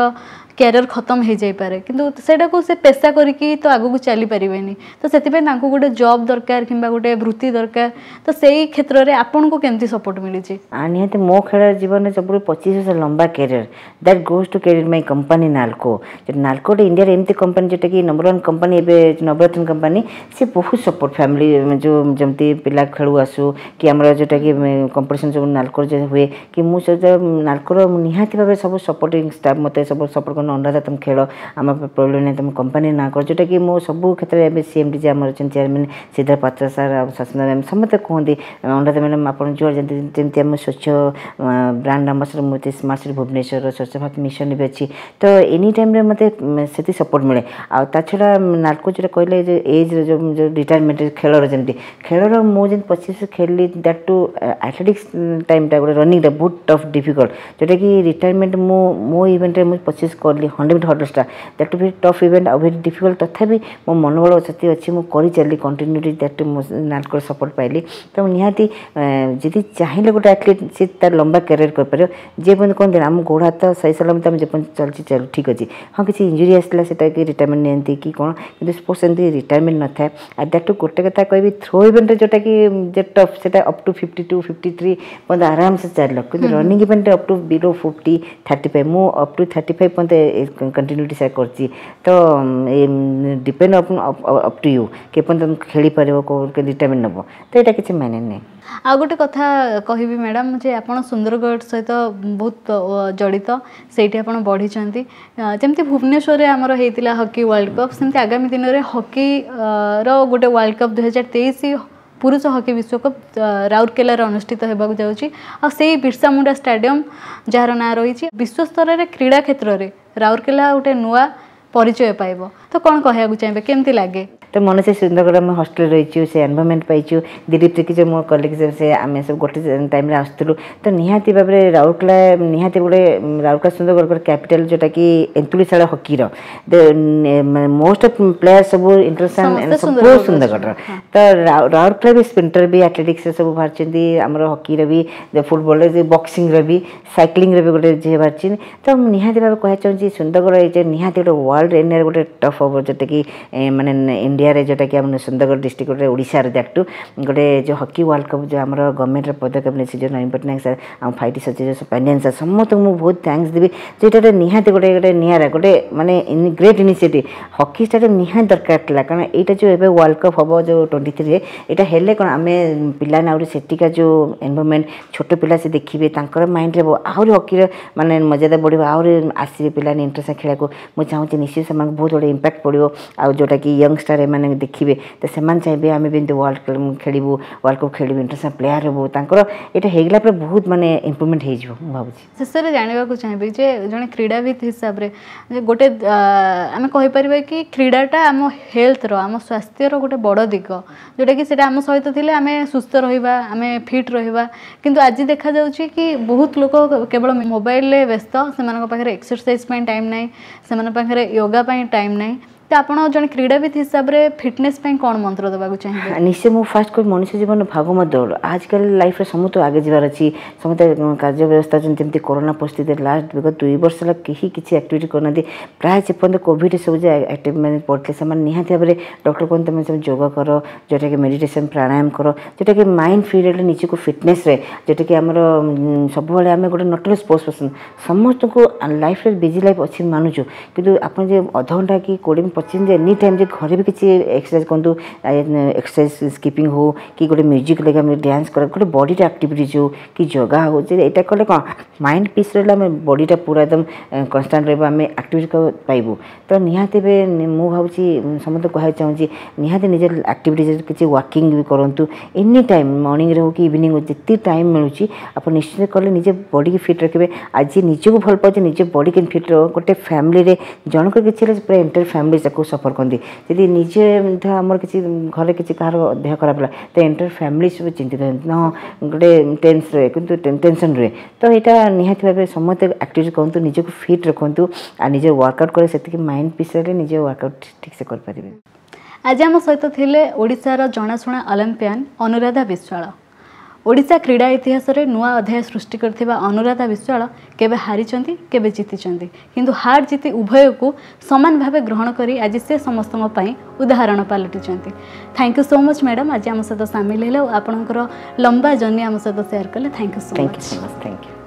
କ୍ୟାରିୟର ଖତମ ହେଇଯାଇପାରେ। କିନ୍ତୁ ସେଇଟାକୁ ସେ ପେସା କରିକି ତ ଆଗକୁ ଚାଲିପାରିବେନି। ତ ସେଥିପାଇଁ ତାଙ୍କୁ ଗୋଟେ ଜବ୍ ଦରକାର କିମ୍ବା ଗୋଟେ ବୃତ୍ତି ଦରକାର। ତ ସେଇ କ୍ଷେତ୍ରରେ ଆପଣଙ୍କୁ କେମିତି ସପୋର୍ଟ ମିଳିଛି?
ନିହାତି ମୋ ଖେଳ ଜୀବନରେ ସବୁଠୁ 25 ବର୍ଷ ଲମ୍ବା career, that goes to career my company NALCO. NALCO ଗୋଟେ ଇଣ୍ଡିଆରେ ଏମିତି କମ୍ପାନୀ, ଯେଉଁଟାକି ନମ୍ବର ୱାନ୍ କମ୍ପାନୀ, ଏବେ ନବରତ୍ନ କମ୍ପାନୀ। ସେ ବହୁତ ସପୋର୍ଟ ଫ୍ୟାମିଲି, ଯେଉଁ ଯେମିତି ପିଲା ଖେଳୁ ଆସୁ କି ଆମର ଯେଉଁଟାକି କମ୍ପିଟିସନ୍ ସବୁ ନାଲକୋର ଯେଉଁ ହୁଏ କି ମୁଁ ସେ ନାଲକୋର ନିହାତି ଭାବେ ସବୁ ସପୋର୍ଟିଂ ଷ୍ଟାଫ୍ ମୋତେ ସବୁ ସପୋର୍ଟ କରନ୍ତି। ଅନୁରାଧା, ତୁମେ ଖେଳ, ଆମ ପ୍ରୋବ୍ଲେମ୍ ନାହିଁ, ତୁମ କମ୍ପାନୀ ନାଁ କର। ଯେଉଁଟାକି ମୁଁ ସବୁ କ୍ଷେତ୍ରରେ ଏବେ ସିଏମ୍ଡି ଯେ ଆମର ଅଛନ୍ତି ଚେୟାରମ୍ୟାନ୍ ସିଦ୍ଧାର୍ଥ ପାତ୍ର ସାର୍ ଆଉ ସସ୍ମିତା ମ୍ୟାମ୍, ସମସ୍ତେ କୁହନ୍ତି, ଅନୁରାଧା ମ୍ୟାଡ଼ାମ୍, ଆପଣ ଯୁଆଡ଼େ ଯେମିତି ଯେମିତି ଆମ ସ୍ୱଚ୍ଛ ବ୍ରାଣ୍ଡ ଆମ୍ବାସଡ଼ର ମୁଁ, ସ୍ମାର୍ଟ ସିଟି ଭୁବନେଶ୍ୱର, ସ୍ୱଚ୍ଛ ଭାରତ ମିଶନ ବି ଅଛି। ତ ଏନି ଟାଇମ୍ରେ ମୋତେ ସେତିକି ସପୋର୍ଟ ମିଳେ। ଆଉ ତା ଛଡ଼ା ନାଲକୋ ଯେଉଁଟା କହିଲେ ଯେ ଏଜ୍ର ଯେଉଁ ଯେଉଁ ରିଟାୟାରମେଣ୍ଟ, ଖେଳର ଯେମିତି ଖେଳର ମୁଁ ଯେମିତି 25 ଖେଳିଲି, that two athletics ଟାଇମ୍ଟା ଗୋଟେ ରନିଂଟା ବହୁତ ଟଫ୍, ଡିଫିକଲ୍ଟ, ଯେଉଁଟାକି ରିଟାୟାରମେଣ୍ଟ ମୁଁ ମୋ ଇଭେଣ୍ଟରେ ମୁଁ 25 କଲି, 100 ମିଟର ହର୍ଡଲ୍ସଟା, that two very tough event ଆଉ ଭେରି ଡିଫିକଲ୍ଟ। ତଥାପି ମୋ ମନୋବଳ ସେତିକି ଅଛି, ମୁଁ କରିଚାଲିଲି କଣ୍ଟିନ୍ୟୁଟି, that two ମୁଁ ନାଲକୋର ସପୋର୍ଟ ପାଇଲି। ତ ନିହାତି ଯଦି ଚାହିଁଲେ ଗୋଟେ ଆଥଲେଟ୍ ସେ ତାର ଲମ୍ବା କ୍ୟାରିୟର କରିପାରିବ। ଯେ ପର୍ଯ୍ୟନ୍ତ କୁହନ୍ତି ଆମ ଗୋଡ଼ ହାତ ସହି ସଲାମତ, ଆମେ ଯେପର୍ଯ୍ୟନ୍ତ ଚାଲିଛି ଚାଲୁ, ଠିକ୍ ଅଛି। ହଁ, କିଛି ଇଞ୍ଜୁରି ଆସିଲା, ସେଟା କି ରିଟାୟାରମେଣ୍ଟ ନିଅନ୍ତି କି କ'ଣ, କିନ୍ତୁ ସ୍ପୋର୍ଟସ୍ ଏମିତି ରିଟାୟାରମେଣ୍ଟ ନଥାଏ। ଆଉ that two ଗୋଟେ କଥା କହିବି, ଥ୍ରୋ ଇଭେଣ୍ଟରେ ଯେଉଁଟାକି ଯେ ଟଫ୍, ସେଟା ଅପ୍ ଟୁ 52, 53 ପର୍ଯ୍ୟନ୍ତ ଆରାମସେ ଚାଲିଲ। କିନ୍ତୁ ରନିଂ ଇଭେଣ୍ଟରେ ଅପ୍ ଟୁ ବିଲୋ 50, 35, ମୁଁ ଅପ୍ ଟୁ 35 ପର୍ଯ୍ୟନ୍ତ କଣ୍ଟିନ୍ୟୁଟି ସାର୍ କରିଛି। ତ depend up to you, କେପର୍ଯ୍ୟନ୍ତ ତମେ ଖେଳିପାରିବ, ରିଟାୟାରମେଣ୍ଟ ନେବ, ତ ଏଇଟା କିଛି ମାନେ ନାହିଁ।
ଆଉ ଗୋଟେ କଥା କହିବି ମ୍ୟାଡ଼ାମ୍ ଯେ ଆପଣ ସୁନ୍ଦରଗଡ଼ ସହିତ ବହୁତ ଜଡ଼ିତ, ସେଇଠି ଆପଣ ବଢ଼ିଛନ୍ତି। ଯେମିତି ଭୁବନେଶ୍ୱରରେ ଆମର ହେଇଥିଲା ହକି ୱାର୍ଲଡ଼ କପ୍, ସେମିତି ଆଗାମୀ ଦିନରେ ହକିର ଗୋଟେ ୱାର୍ଲଡ଼ କପ୍, 2023 ପୁରୁଷ ହକି ବିଶ୍ୱକପ୍ ରାଉରକେଲାରେ ଅନୁଷ୍ଠିତ ହେବାକୁ ଯାଉଛି। ଆଉ ସେଇ ବିର୍ସା ମୁଣ୍ଡା ଷ୍ଟାଡ଼ିୟମ୍ ଯାହାର ନାଁ ରହିଛି, ବିଶ୍ୱସ୍ତରରେ କ୍ରୀଡ଼ା କ୍ଷେତ୍ରରେ ରାଉରକେଲା ଗୋଟେ ନୂଆ ପରିଚୟ ପାଇବ। ତ କ'ଣ କହିବାକୁ ଚାହିଁବେ, କେମିତି ଲାଗେ?
ତ ମନେ ସେ ସୁନ୍ଦରଗଡ଼ ଆମେ ହଷ୍ଟେଲ ରହିଛୁ, ସେ ଏନଭାରମେଣ୍ଟ ପାଇଛୁ। ଦିଲ୍ଲୀପ ତିର୍କି ଯେଉଁ ମୋ କଲିଗ, ସେ ଆମେ ସବୁ ଗୋଟେ ଟାଇମ୍ରେ ଆସୁଥିଲୁ। ତ ନିହାତି ଭାବରେ ରାଉରକେଲା ନିହାତି ଗୋଟେ, ରାଉରକେଲା ସୁନ୍ଦରଗଡ଼ ଗୋଟେ କ୍ୟାପିଟାଲ, ଯେଉଁଟାକି ଏନ୍ତୁଳିଶାଳ ହକିର ମୋଷ୍ଟ ଅଫ୍ ପ୍ଲେୟାର ସବୁ ଇଣ୍ଟରନ୍ୟାସନାଲ ସବୁ ସୁନ୍ଦରଗଡ଼ର। ତ ରାଉରକେଲା ବି ସ୍ପ୍ରିଣ୍ଟର ବି ଆଥଲେଟିକ୍ସରେ ସବୁ ବାହାରିଛନ୍ତି, ଆମର ହକିର ବି, ଫୁଟବଲରେ, ବକ୍ସିଂର ବି, ସାଇକ୍ଲିଂର ବି ଗୋଟେ ଝିଅ ବାହାରିଛନ୍ତି। ତ ମୁଁ ନିହାତି ଭାବେ କହିବାକୁ ଚାହୁଁଛି, ସୁନ୍ଦରଗଡ଼ ଏଇ ନିହାତି ଗୋଟେ ୱାର୍ଲଡ ଏରିଆରେ ଗୋଟେ ଟପ୍ ହବ, ଯେଉଁଟାକି ମାନେ ଇଣ୍ଡିଆରେ, ଯେଉଁଟାକି ଆମ ସୁନ୍ଦରଗଡ଼ ଡିଷ୍ଟ୍ରିକ୍ଟ ଗୋଟେ, ଓଡ଼ିଶାର that two ଗୋଟେ ଯେଉଁ ହକି ୱାର୍ଲଡ କପ୍, ଯେଉଁ ଆମର ଗଭର୍ଣ୍ଣମେଣ୍ଟର ପଦକ୍ଷେପ ନେଇଛି, ଯେଉଁ ନବୀନ ପଟ୍ଟନାୟକ ସାର୍, ଆମ ଫାଇଭ୍ ଟି ସଚିବ ପାଣ୍ଡିଆନ ସାର୍, ସମସ୍ତଙ୍କୁ ମୁଁ ବହୁତ thanks ଦେବି ଯେ ଏଇଟା ଗୋଟେ ନିହାତି ଗୋଟେ ଗୋଟେ ନିଆରା ଗୋଟେ ମାନେ ଗ୍ରେଟ୍ ଇନିସିଏଟିଭ୍। ହକି ଷ୍ଟାଡ଼ିୟମ୍ ନିହାତି ଦରକାର ଥିଲା, କାରଣ ଏଇଟା ଯେଉଁ ଏବେ ୱାର୍ଲଡ କପ୍ ହେବ ଯେଉଁ 23ରେ, ଏଇଟା ହେଲେ କ'ଣ ଆମେ ପିଲାମାନେ ଆହୁରି ସେଠିକା ଯେଉଁ ଏନଭାରମେଣ୍ଟ, ଛୋଟ ପିଲା ସେ ଦେଖିବେ, ତାଙ୍କର ମାଇଣ୍ଡରେ ଆହୁରି ହକିର ମାନେ ମର୍ଯ୍ୟାଦା ବଢ଼ିବ, ଆହୁରି ଆସିବେ ପିଲାମାନେ ଇଣ୍ଟରେଷ୍ଟ ଖେଳିବାକୁ। ମୁଁ ଚାହୁଁଛି ନିଶ୍ଚିତ ସେମାନଙ୍କୁ ବହୁତ ଗୋଟେ ଇମ୍ପାକ୍ଟ ପଡ଼ିବ। ଆଉ ଯେଉଁଟାକି ୟଙ୍ଗଷ୍ଟାର ଖେଳାଳିମାନେ ଦେଖିବେ ତ ସେମାନେ ଚାହିଁବେ ଆମେ ବି ଏମିତି ୱାର୍ଲଡ ଖେଳିବୁ, ୱାର୍ଲଡ କପ୍ ଖେଳିବୁ, ଇଣ୍ଟରନ୍ୟାସନାଲ୍ ପ୍ଲେୟାର ହେବୁ। ତାଙ୍କର ଏଇଟା ହେଇଗଲା ପରେ ବହୁତ ମାନେ ଇମ୍ପ୍ରୁଭମେଣ୍ଟ ହେଇଯିବ ମୁଁ ଭାବୁଛି।
ଶେଷରେ ଜାଣିବାକୁ ଚାହିଁବି ଯେ ଜଣେ କ୍ରୀଡ଼ାବିତ୍ ହିସାବରେ ଯେ ଗୋଟେ ଆମେ କହିପାରିବା କି କ୍ରୀଡ଼ାଟା ଆମ ହେଲ୍ଥର, ଆମ ସ୍ୱାସ୍ଥ୍ୟର ଗୋଟେ ବଡ଼ ଦିଗ, ଯେଉଁଟାକି ସେଇଟା ଆମ ସହିତ ଥିଲେ ଆମେ ସୁସ୍ଥ ରହିବା, ଆମେ ଫିଟ୍ ରହିବା। କିନ୍ତୁ ଆଜି ଦେଖାଯାଉଛି କି ବହୁତ ଲୋକ କେବଳ ମୋବାଇଲରେ ବ୍ୟସ୍ତ, ସେମାନଙ୍କ ପାଖରେ ଏକ୍ସରସାଇଜ ପାଇଁ ଟାଇମ୍ ନାହିଁ, ସେମାନଙ୍କ ପାଖରେ ୟୋଗା ପାଇଁ ଟାଇମ୍ ନାହିଁ। ତ ଆପଣ ଜଣେ କ୍ରୀଡ଼ାବିତ୍ ହିସାବରେ ଫିଟନେସ୍ ପାଇଁ କ'ଣ ମନ୍ତ୍ର ଦେବାକୁ ଚାହିଁବେ?
ନିଶ୍ଚୟ ମୁଁ ଫାଷ୍ଟ କହିବି ମଣିଷ ଜୀବନ ଭାଗମ ଦୌଡ଼। ଆଜିକାଲି ଲାଇଫ୍ରେ ସମସ୍ତେ ଆଗେ ଯିବାର ଅଛି, ସମସ୍ତେ କାର୍ଯ୍ୟ ବ୍ୟବସ୍ଥା ଅଛନ୍ତି। ଯେମିତି କରୋନା ପରିସ୍ଥିତିରେ ଲାଷ୍ଟ ବିଗତ 2 ବର୍ଷ ହେଲା କେହି କିଛି ଆକ୍ଟିଭିଟି କରୁନାହାନ୍ତି। ପ୍ରାୟ ଯେପର୍ଯ୍ୟନ୍ତ କୋଭିଡ଼ ସବୁ ଯେ ଆକ୍ଟିଭ ମାନେ ପଡ଼ିଥିଲେ ସେମାନେ ନିହାତି ଭାବରେ ଡକ୍ଟର କୁହନ୍ତି ତୁମେ ସବୁ ଯୋଗ କର, ଯେଉଁଟାକି ମେଡ଼ିଟେସନ୍ ପ୍ରାଣାୟାମ କର, ଯେଉଁଟାକି ମାଇଣ୍ଡ ଫ୍ରି ରହିଲେ ନିଜକୁ ଫିଟନେସ୍ ରହେ। ଯେଉଁଟାକି ଆମର ସବୁବେଳେ ଆମେ ଗୋଟେ not only sports person, ସମସ୍ତଙ୍କୁ ଲାଇଫ୍ରେ ବିଜି ଲାଇଫ୍ ଅଛି ମାନୁଛୁ, କିନ୍ତୁ ଆପଣ ଯେ ଅଧଘଣ୍ଟା କି 20 25 ମିନିଟ୍ ଏନି ଟାଇମ୍ ଯେ ଘରେ ବି କିଛି ଏକ୍ସରସାଇଜ୍ କରନ୍ତୁ, ଏକ୍ସରସାଇଜ୍ ସ୍କିପିଂ ହଉ କି ଗୋଟେ ମ୍ୟୁଜିକ୍ ଲାଗି ଆମେ ଡ୍ୟାନ୍ସ କର, ଗୋଟେ ବଡ଼ିଟା ଆକ୍ଟିଭିଟିଜ୍ ହଉ କି ଯୋଗା ହଉ, ଯେ ଏଇଟା କଲେ କ'ଣ ମାଇଣ୍ଡ ପିସ୍ ରହିଲେ ଆମେ ବଡ଼ିଟା ପୁରା ଏକଦମ କନଷ୍ଟାଣ୍ଟ ରହିବ, ଆମେ ଆକ୍ଟିଭିଟି ପାଇବୁ। ତ ନିହାତି ଏବେ ମୁଁ ଭାବୁଛି ସମସ୍ତଙ୍କୁ କହିବାକୁ ଚାହୁଁଛି ନିହାତି ନିଜ ଆକ୍ଟିଭିଟିଜ୍ କିଛି ୱାକିଂ ବି କରନ୍ତୁ ଏନି ଟାଇମ୍, ମର୍ଣ୍ଣିଂରେ ହଉ କି ଇଭିନିଂ ହଉ, ଯେତିକି ଟାଇମ୍ ମିଳୁଛି ଆପଣ ନିଶ୍ଚିତ କଲେ ନିଜ ବଡ଼ିକି ଫିଟ୍ ରଖିବେ। ଆଜି ନିଜକୁ ଭଲ ପାଉଛି, ନିଜ ବଡ଼ି କେମିତି ଫିଟ୍ ରହିବ। ଗୋଟେ ଫ୍ୟାମିଲିରେ ଜଣଙ୍କର କିଛି ହେଲେ ପୁରା ଏଣ୍ଟାୟାର ଫ୍ୟାମିଲି ତାକୁ ସଫର କରନ୍ତି। ଯଦି ନିଜେ ଆମର କିଛି ଘରେ କିଛି କାହାର ଦେହ ଖରାପ ହେଲା ତ ଏଣ୍ଟାୟାର ଫ୍ୟାମିଲି ସବୁ ଚିନ୍ତିତ ହୁଅନ୍ତି, ହଁ ଗୋଟେ ଟେନ୍ସ ରୁହେ, କିନ୍ତୁ ଟେନସନ୍ ରୁହେ। ତ ଏଇଟା ନିହାତି ଭାବେ ସମସ୍ତେ ଆକ୍ଟିଭିଟି କରନ୍ତୁ, ନିଜକୁ ଫିଟ୍ ରଖନ୍ତୁ ଆଉ ନିଜେ ୱାର୍କଆଉଟ୍ କଲେ ସେତିକି ମାଇଣ୍ଡ ପିସ୍ ରହିଲେ ନିଜେ ୱାର୍କଆଉଟ୍ ଠିକ୍ସେ କରିପାରିବେ।
ଆଜି ଆମ ସହିତ ଥିଲେ ଓଡ଼ିଶାର ଜଣାଶୁଣା ଅଲିମ୍ପିଆନ୍ ଅନୁରାଧା ବିଶ୍ୱାଳ। ଓଡ଼ିଶା କ୍ରୀଡ଼ା ଇତିହାସରେ ନୂଆ ଅଧ୍ୟାୟ ସୃଷ୍ଟି କରିଥିବା ଅନୁରାଧା ବିଶ୍ୱାଳ କେବେ ହାରିଛନ୍ତି, କେବେ ଜିତିଛନ୍ତି, କିନ୍ତୁ ହାର ଜିତି ଉଭୟକୁ ସମାନ ଭାବେ ଗ୍ରହଣ କରି ଆଜି ସେ ସମସ୍ତଙ୍କ ପାଇଁ ଉଦାହରଣ ପାଲଟିଛନ୍ତି। Thank you so much madam, ଆଜି ଆମ ସହିତ ସାମିଲ ହେଲେ ଆଉ ଆପଣଙ୍କର ଲମ୍ବା ଜର୍ଣ୍ଣି ଆମ ସହିତ ସେୟାର କଲେ। Thank you so
thank you
much.
So much, thank you.